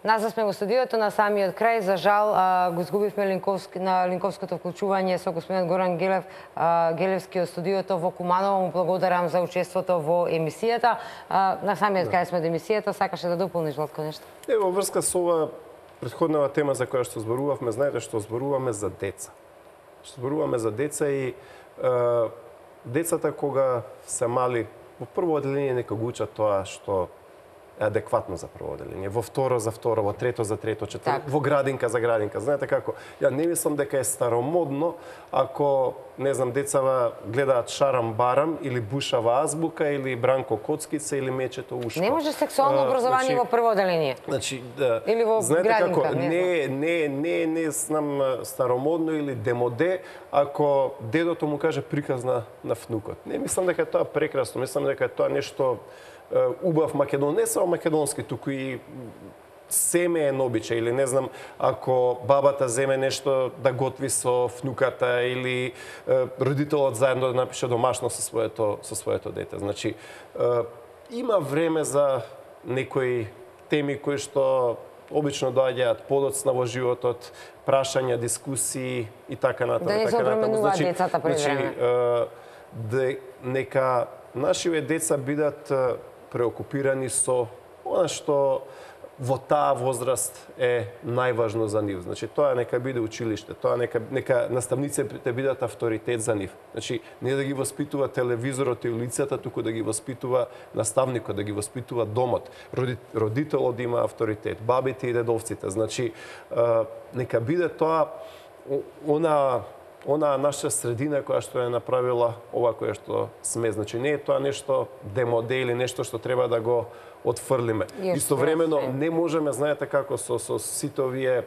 Назад сме во студиото на самиот крај, за жал а, го изгубивме Линковски, на Линковското вклучување со господинот Горан Гелев, а, Гелевски од студиото во Куманово. Му благодарам за учеството во емисијата. А, на самиот крај сме до емисијата, сакаше да дополниш Владко нешто? Е, во врска со ова претходната тема за која што зборувавме, знаете што зборуваме за деца. Што зборуваме за деца и е, децата кога се мали, во прво одделение нека го учат тоа што е адекватно за прво одделение, во второ за второ, во трето за трето, четврто, Так. во градинка за градинка. Знаете како? Ја не мислам дека е старомодно ако, не знам, децава гледаат Шарам Барам или Бушава азбука или Бранко Коцкица или Мечето Ушко. Не може сексуално А, образование значи, во прво одделение. Значи, да, Или во знаете градинка, како, не не, не, не, не знам старомодно или демоде, ако дедото му каже приказ на, на внукот. Не мислам дека е тоа прекрасно, мислам дека е тоа нешто е, убав македон, не само македонски, туку и семеен обичај, или не знам, ако бабата земе нешто да готви со внуката или е, родителот заедно да напише домашно со своето со своето дете. Значи, е, има време за некои теми кои што обично доаѓаат подоцна во животот, прашања, дискусии и така натаму. Да не се така натаму. обременуваат децата пред време. е, де, нека нашиве деца бидат е, преокупирани со она што во таа возраст е најважно за нив. Значи, тоа нека биде училиште, тоа нека, нека наставниците бидат авторитет за нив. Значи, не да ги воспитува телевизорот и улицата, туку да ги воспитува наставникот, да ги воспитува домот. Родителот да има авторитет, бабите и дедовците. Значи, нека биде тоа она она наша средина која што е направила ова кое што сме. Значи не е тоа нешто демоде или нешто што треба да го отфрлиме. Истовремено не можеме, знаете како со со сите овие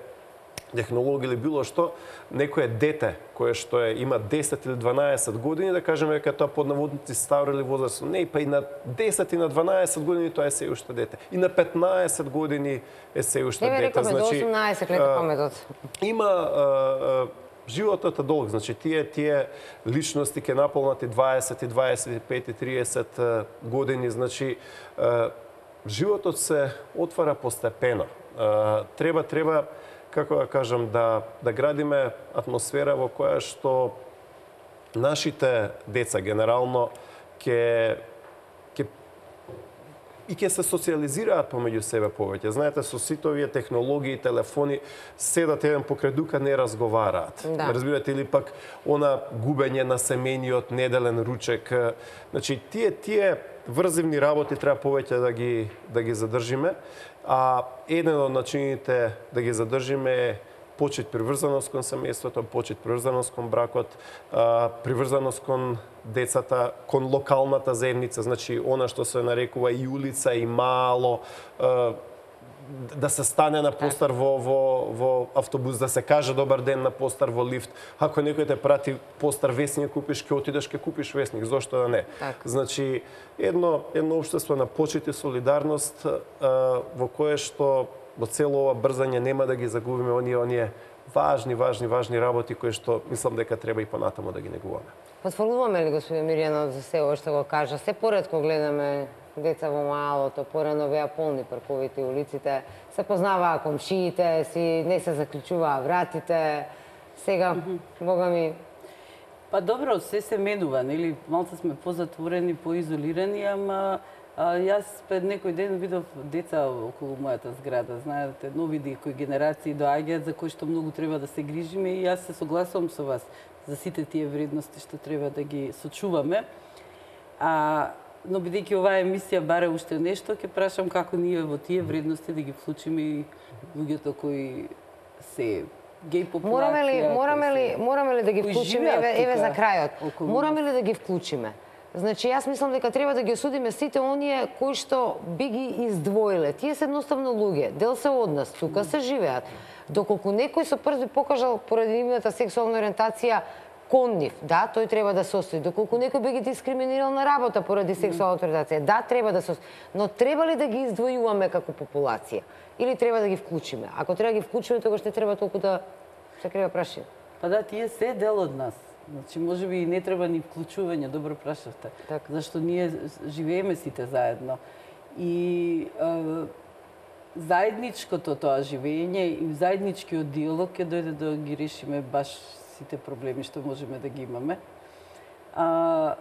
технологии или било што, некое дете кое што е има десет или дванаесет години, да кажеме дека тоа под наводници стар или возраст. Не, па и на десет и на дванаесет години тоа е се уште дете. И на петнаесет години е се уште дете. Не рекаме значи, до осумнаесет лета паметот. Има а, а, животот е долг, значи тие тие личности ќе наполнат и дваесет, и дваесет и пет, и триесет години, значи а, животот се отвара постепено. А, треба треба како да кажам да да градиме атмосфера во која што нашите деца генерално ќе ќе и ќе се социализираат помеѓу себе повеќе. Знаете, со сите овие технологии, телефони, седат еден покрај дука, не разговараат. Да. Разбирате, или пак она губење на семејниот неделен ручек. Значи, тие тие врзивни работи треба повеќе да ги да ги задржиме, а еден од начините да ги задржиме е почит приврзаност кон семејството, почит приврзаност кон бракот, приврзаност кон децата, кон локалната заедница, значи она што се нарекува и улица и мало, да се стане на постар во во во автобус, да се каже добар ден на постар во лифт. Ако некој те прати постар весник купиш, ќе отидеш ќе купиш весник, зошто да не? Так. Значи едно едно општество на почит и солидарност во кое што во цело ова брзање нема да ги загубиме оние оние важни важни важни работи кои што мислам дека треба и понатаму да ги негуваме. Потврдуваме ли, господин Мирјанов, за се ова што го кажа? Се поретко гледаме деца во малото, порано беа полни парковите и улиците, се познаваа комшиите, си не се заклучуваа вратите. Сега, бога ми... Па добро, се се менува, нели? Малце сме позатворени, поизолирани, ама а, јас пред некој ден видов деца околу мојата зграда, знаете, нови кои генерации доаѓаат за кои што многу треба да се грижиме и јас се согласувам со вас за сите тие вредности што треба да ги сочуваме. А но бидејќи оваа емисија баре уште нешто, ќе прашам како ние во тие вредности да ги вклучиме и луѓето кои се геј популација. Мораме ли, мораме ли, мораме ли да ги вклучиме, еве, еве за крајот. Мораме ли да ги вклучиме? Значи, јас мислам дека треба да ги осудиме сите оние кои што би ги издвоиле. Тие се едноставно луѓе, дел се од нас, тука се живеат. Доколку некој со прст би покажал поради нивната сексуална ориентација кон нив, да, тој треба да се осуди. Доколку некој би ги дискриминирал на работа поради сексуалната ориентација, да, треба да се осуди. Но треба ли да ги издвојуваме како популација? Или треба да ги вклучиме? Ако треба да ги вклучиме, тогаш не треба толку да се крива прашање. Па да, тие се дел од нас. Значи, може би и не треба ни вклучување, добро прашавте. Так. Зашто ние живееме сите заедно. И е, заедничкото тоа живење и заедничкиот диалог ќе дојде да ги решиме баш сите проблеми што можеме да ги имаме. А,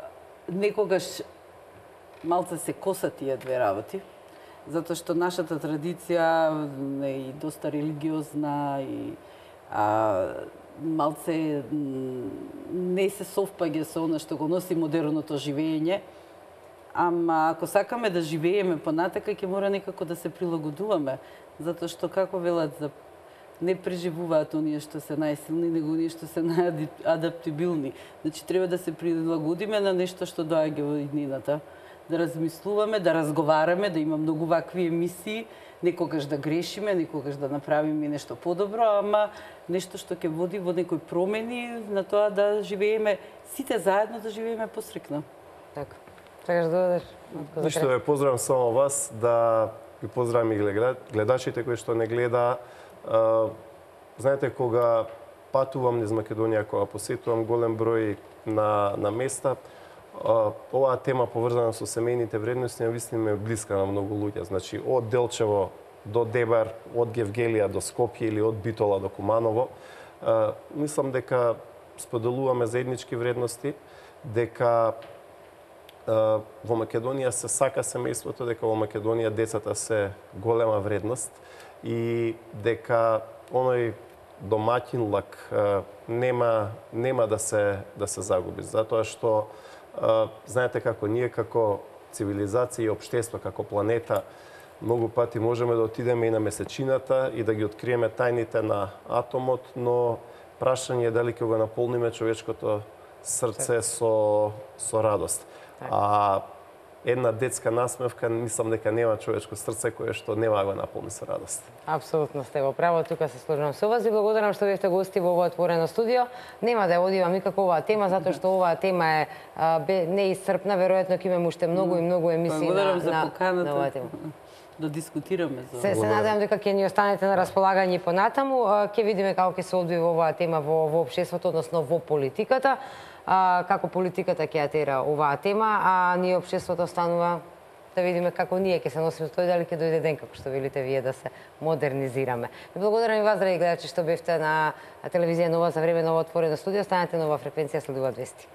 некогаш малце се косат тие две работи, затоа што нашата традиција е и доста религиозна и а, малце не се совпаѓа со она што го носи модерното живење, ама ако сакаме да живееме понатака, ќе мора некако да се прилагодуваме, затоа што како велат за не преживуваат оние што се најсилни, него оние што се најадаптибилни. Значи треба да се прилагодиме на нешто што доаѓа во иднината, да размислуваме, да разговараме, да има многу вакви емисии, некогаш да грешиме, некогаш да направиме нешто подобро, ама нешто што ќе води во некои промени на тоа да живееме сите заедно, да живееме посрекно. Така. Сакаш да додадеш? Ништо ве поздравам само вас, да ви поздравам и гледачите кои што не гледа. Знаете, кога патувам низ Македонија, кога посетувам голем број на, на места, оваа тема поврзана со семејните вредности навистина е блиска на многу луѓе. Значи, од Делчево до Дебар, од Гевгелија до Скопје или од Битола до Куманово, мислам дека споделуваме заеднички вредности, дека во Македонија се сака семејството, дека во Македонија децата се голема вредност и дека оној домаќин лак нема нема да се да се загуби, затоа што знаете како ние како цивилизација и општество, како планета, многу пати можеме да отидеме и на месечината и да ги откриеме тајните на атомот, но Прашање е дали ќе го наполниме човечкото срце со со радост. А една детска насмевка, мислам дека нема човечко срце кое што нема да го наполни со радост. Апсолутно сте во право, тука се сложувам со вас и благодарам што бевте гости во овој отворено студио. Нема да ја одивам никако оваа тема, затоа што оваа тема е бе, неисцрпна, веројатно ќе имаме уште многу и многу емисии благодарам на, за на, поканата на оваа тема. Да дискутираме за Се, се надевам дека ќе ни останете на располагање понатаму. Ќе видиме како ќе се одвива оваа тема во, во општеството, односно во политиката. А, како политиката ќе ја тера оваа тема, а ние општеството останува да видиме како ние ќе се носиме тој, дали ќе дојде ден, како што велите вие, да се модернизираме. Ви благодарам и вас, драги гледачи, што бевте на телевизија Нова за време на ова отворено студио. Станете Нова фреквенција, следуваат вести.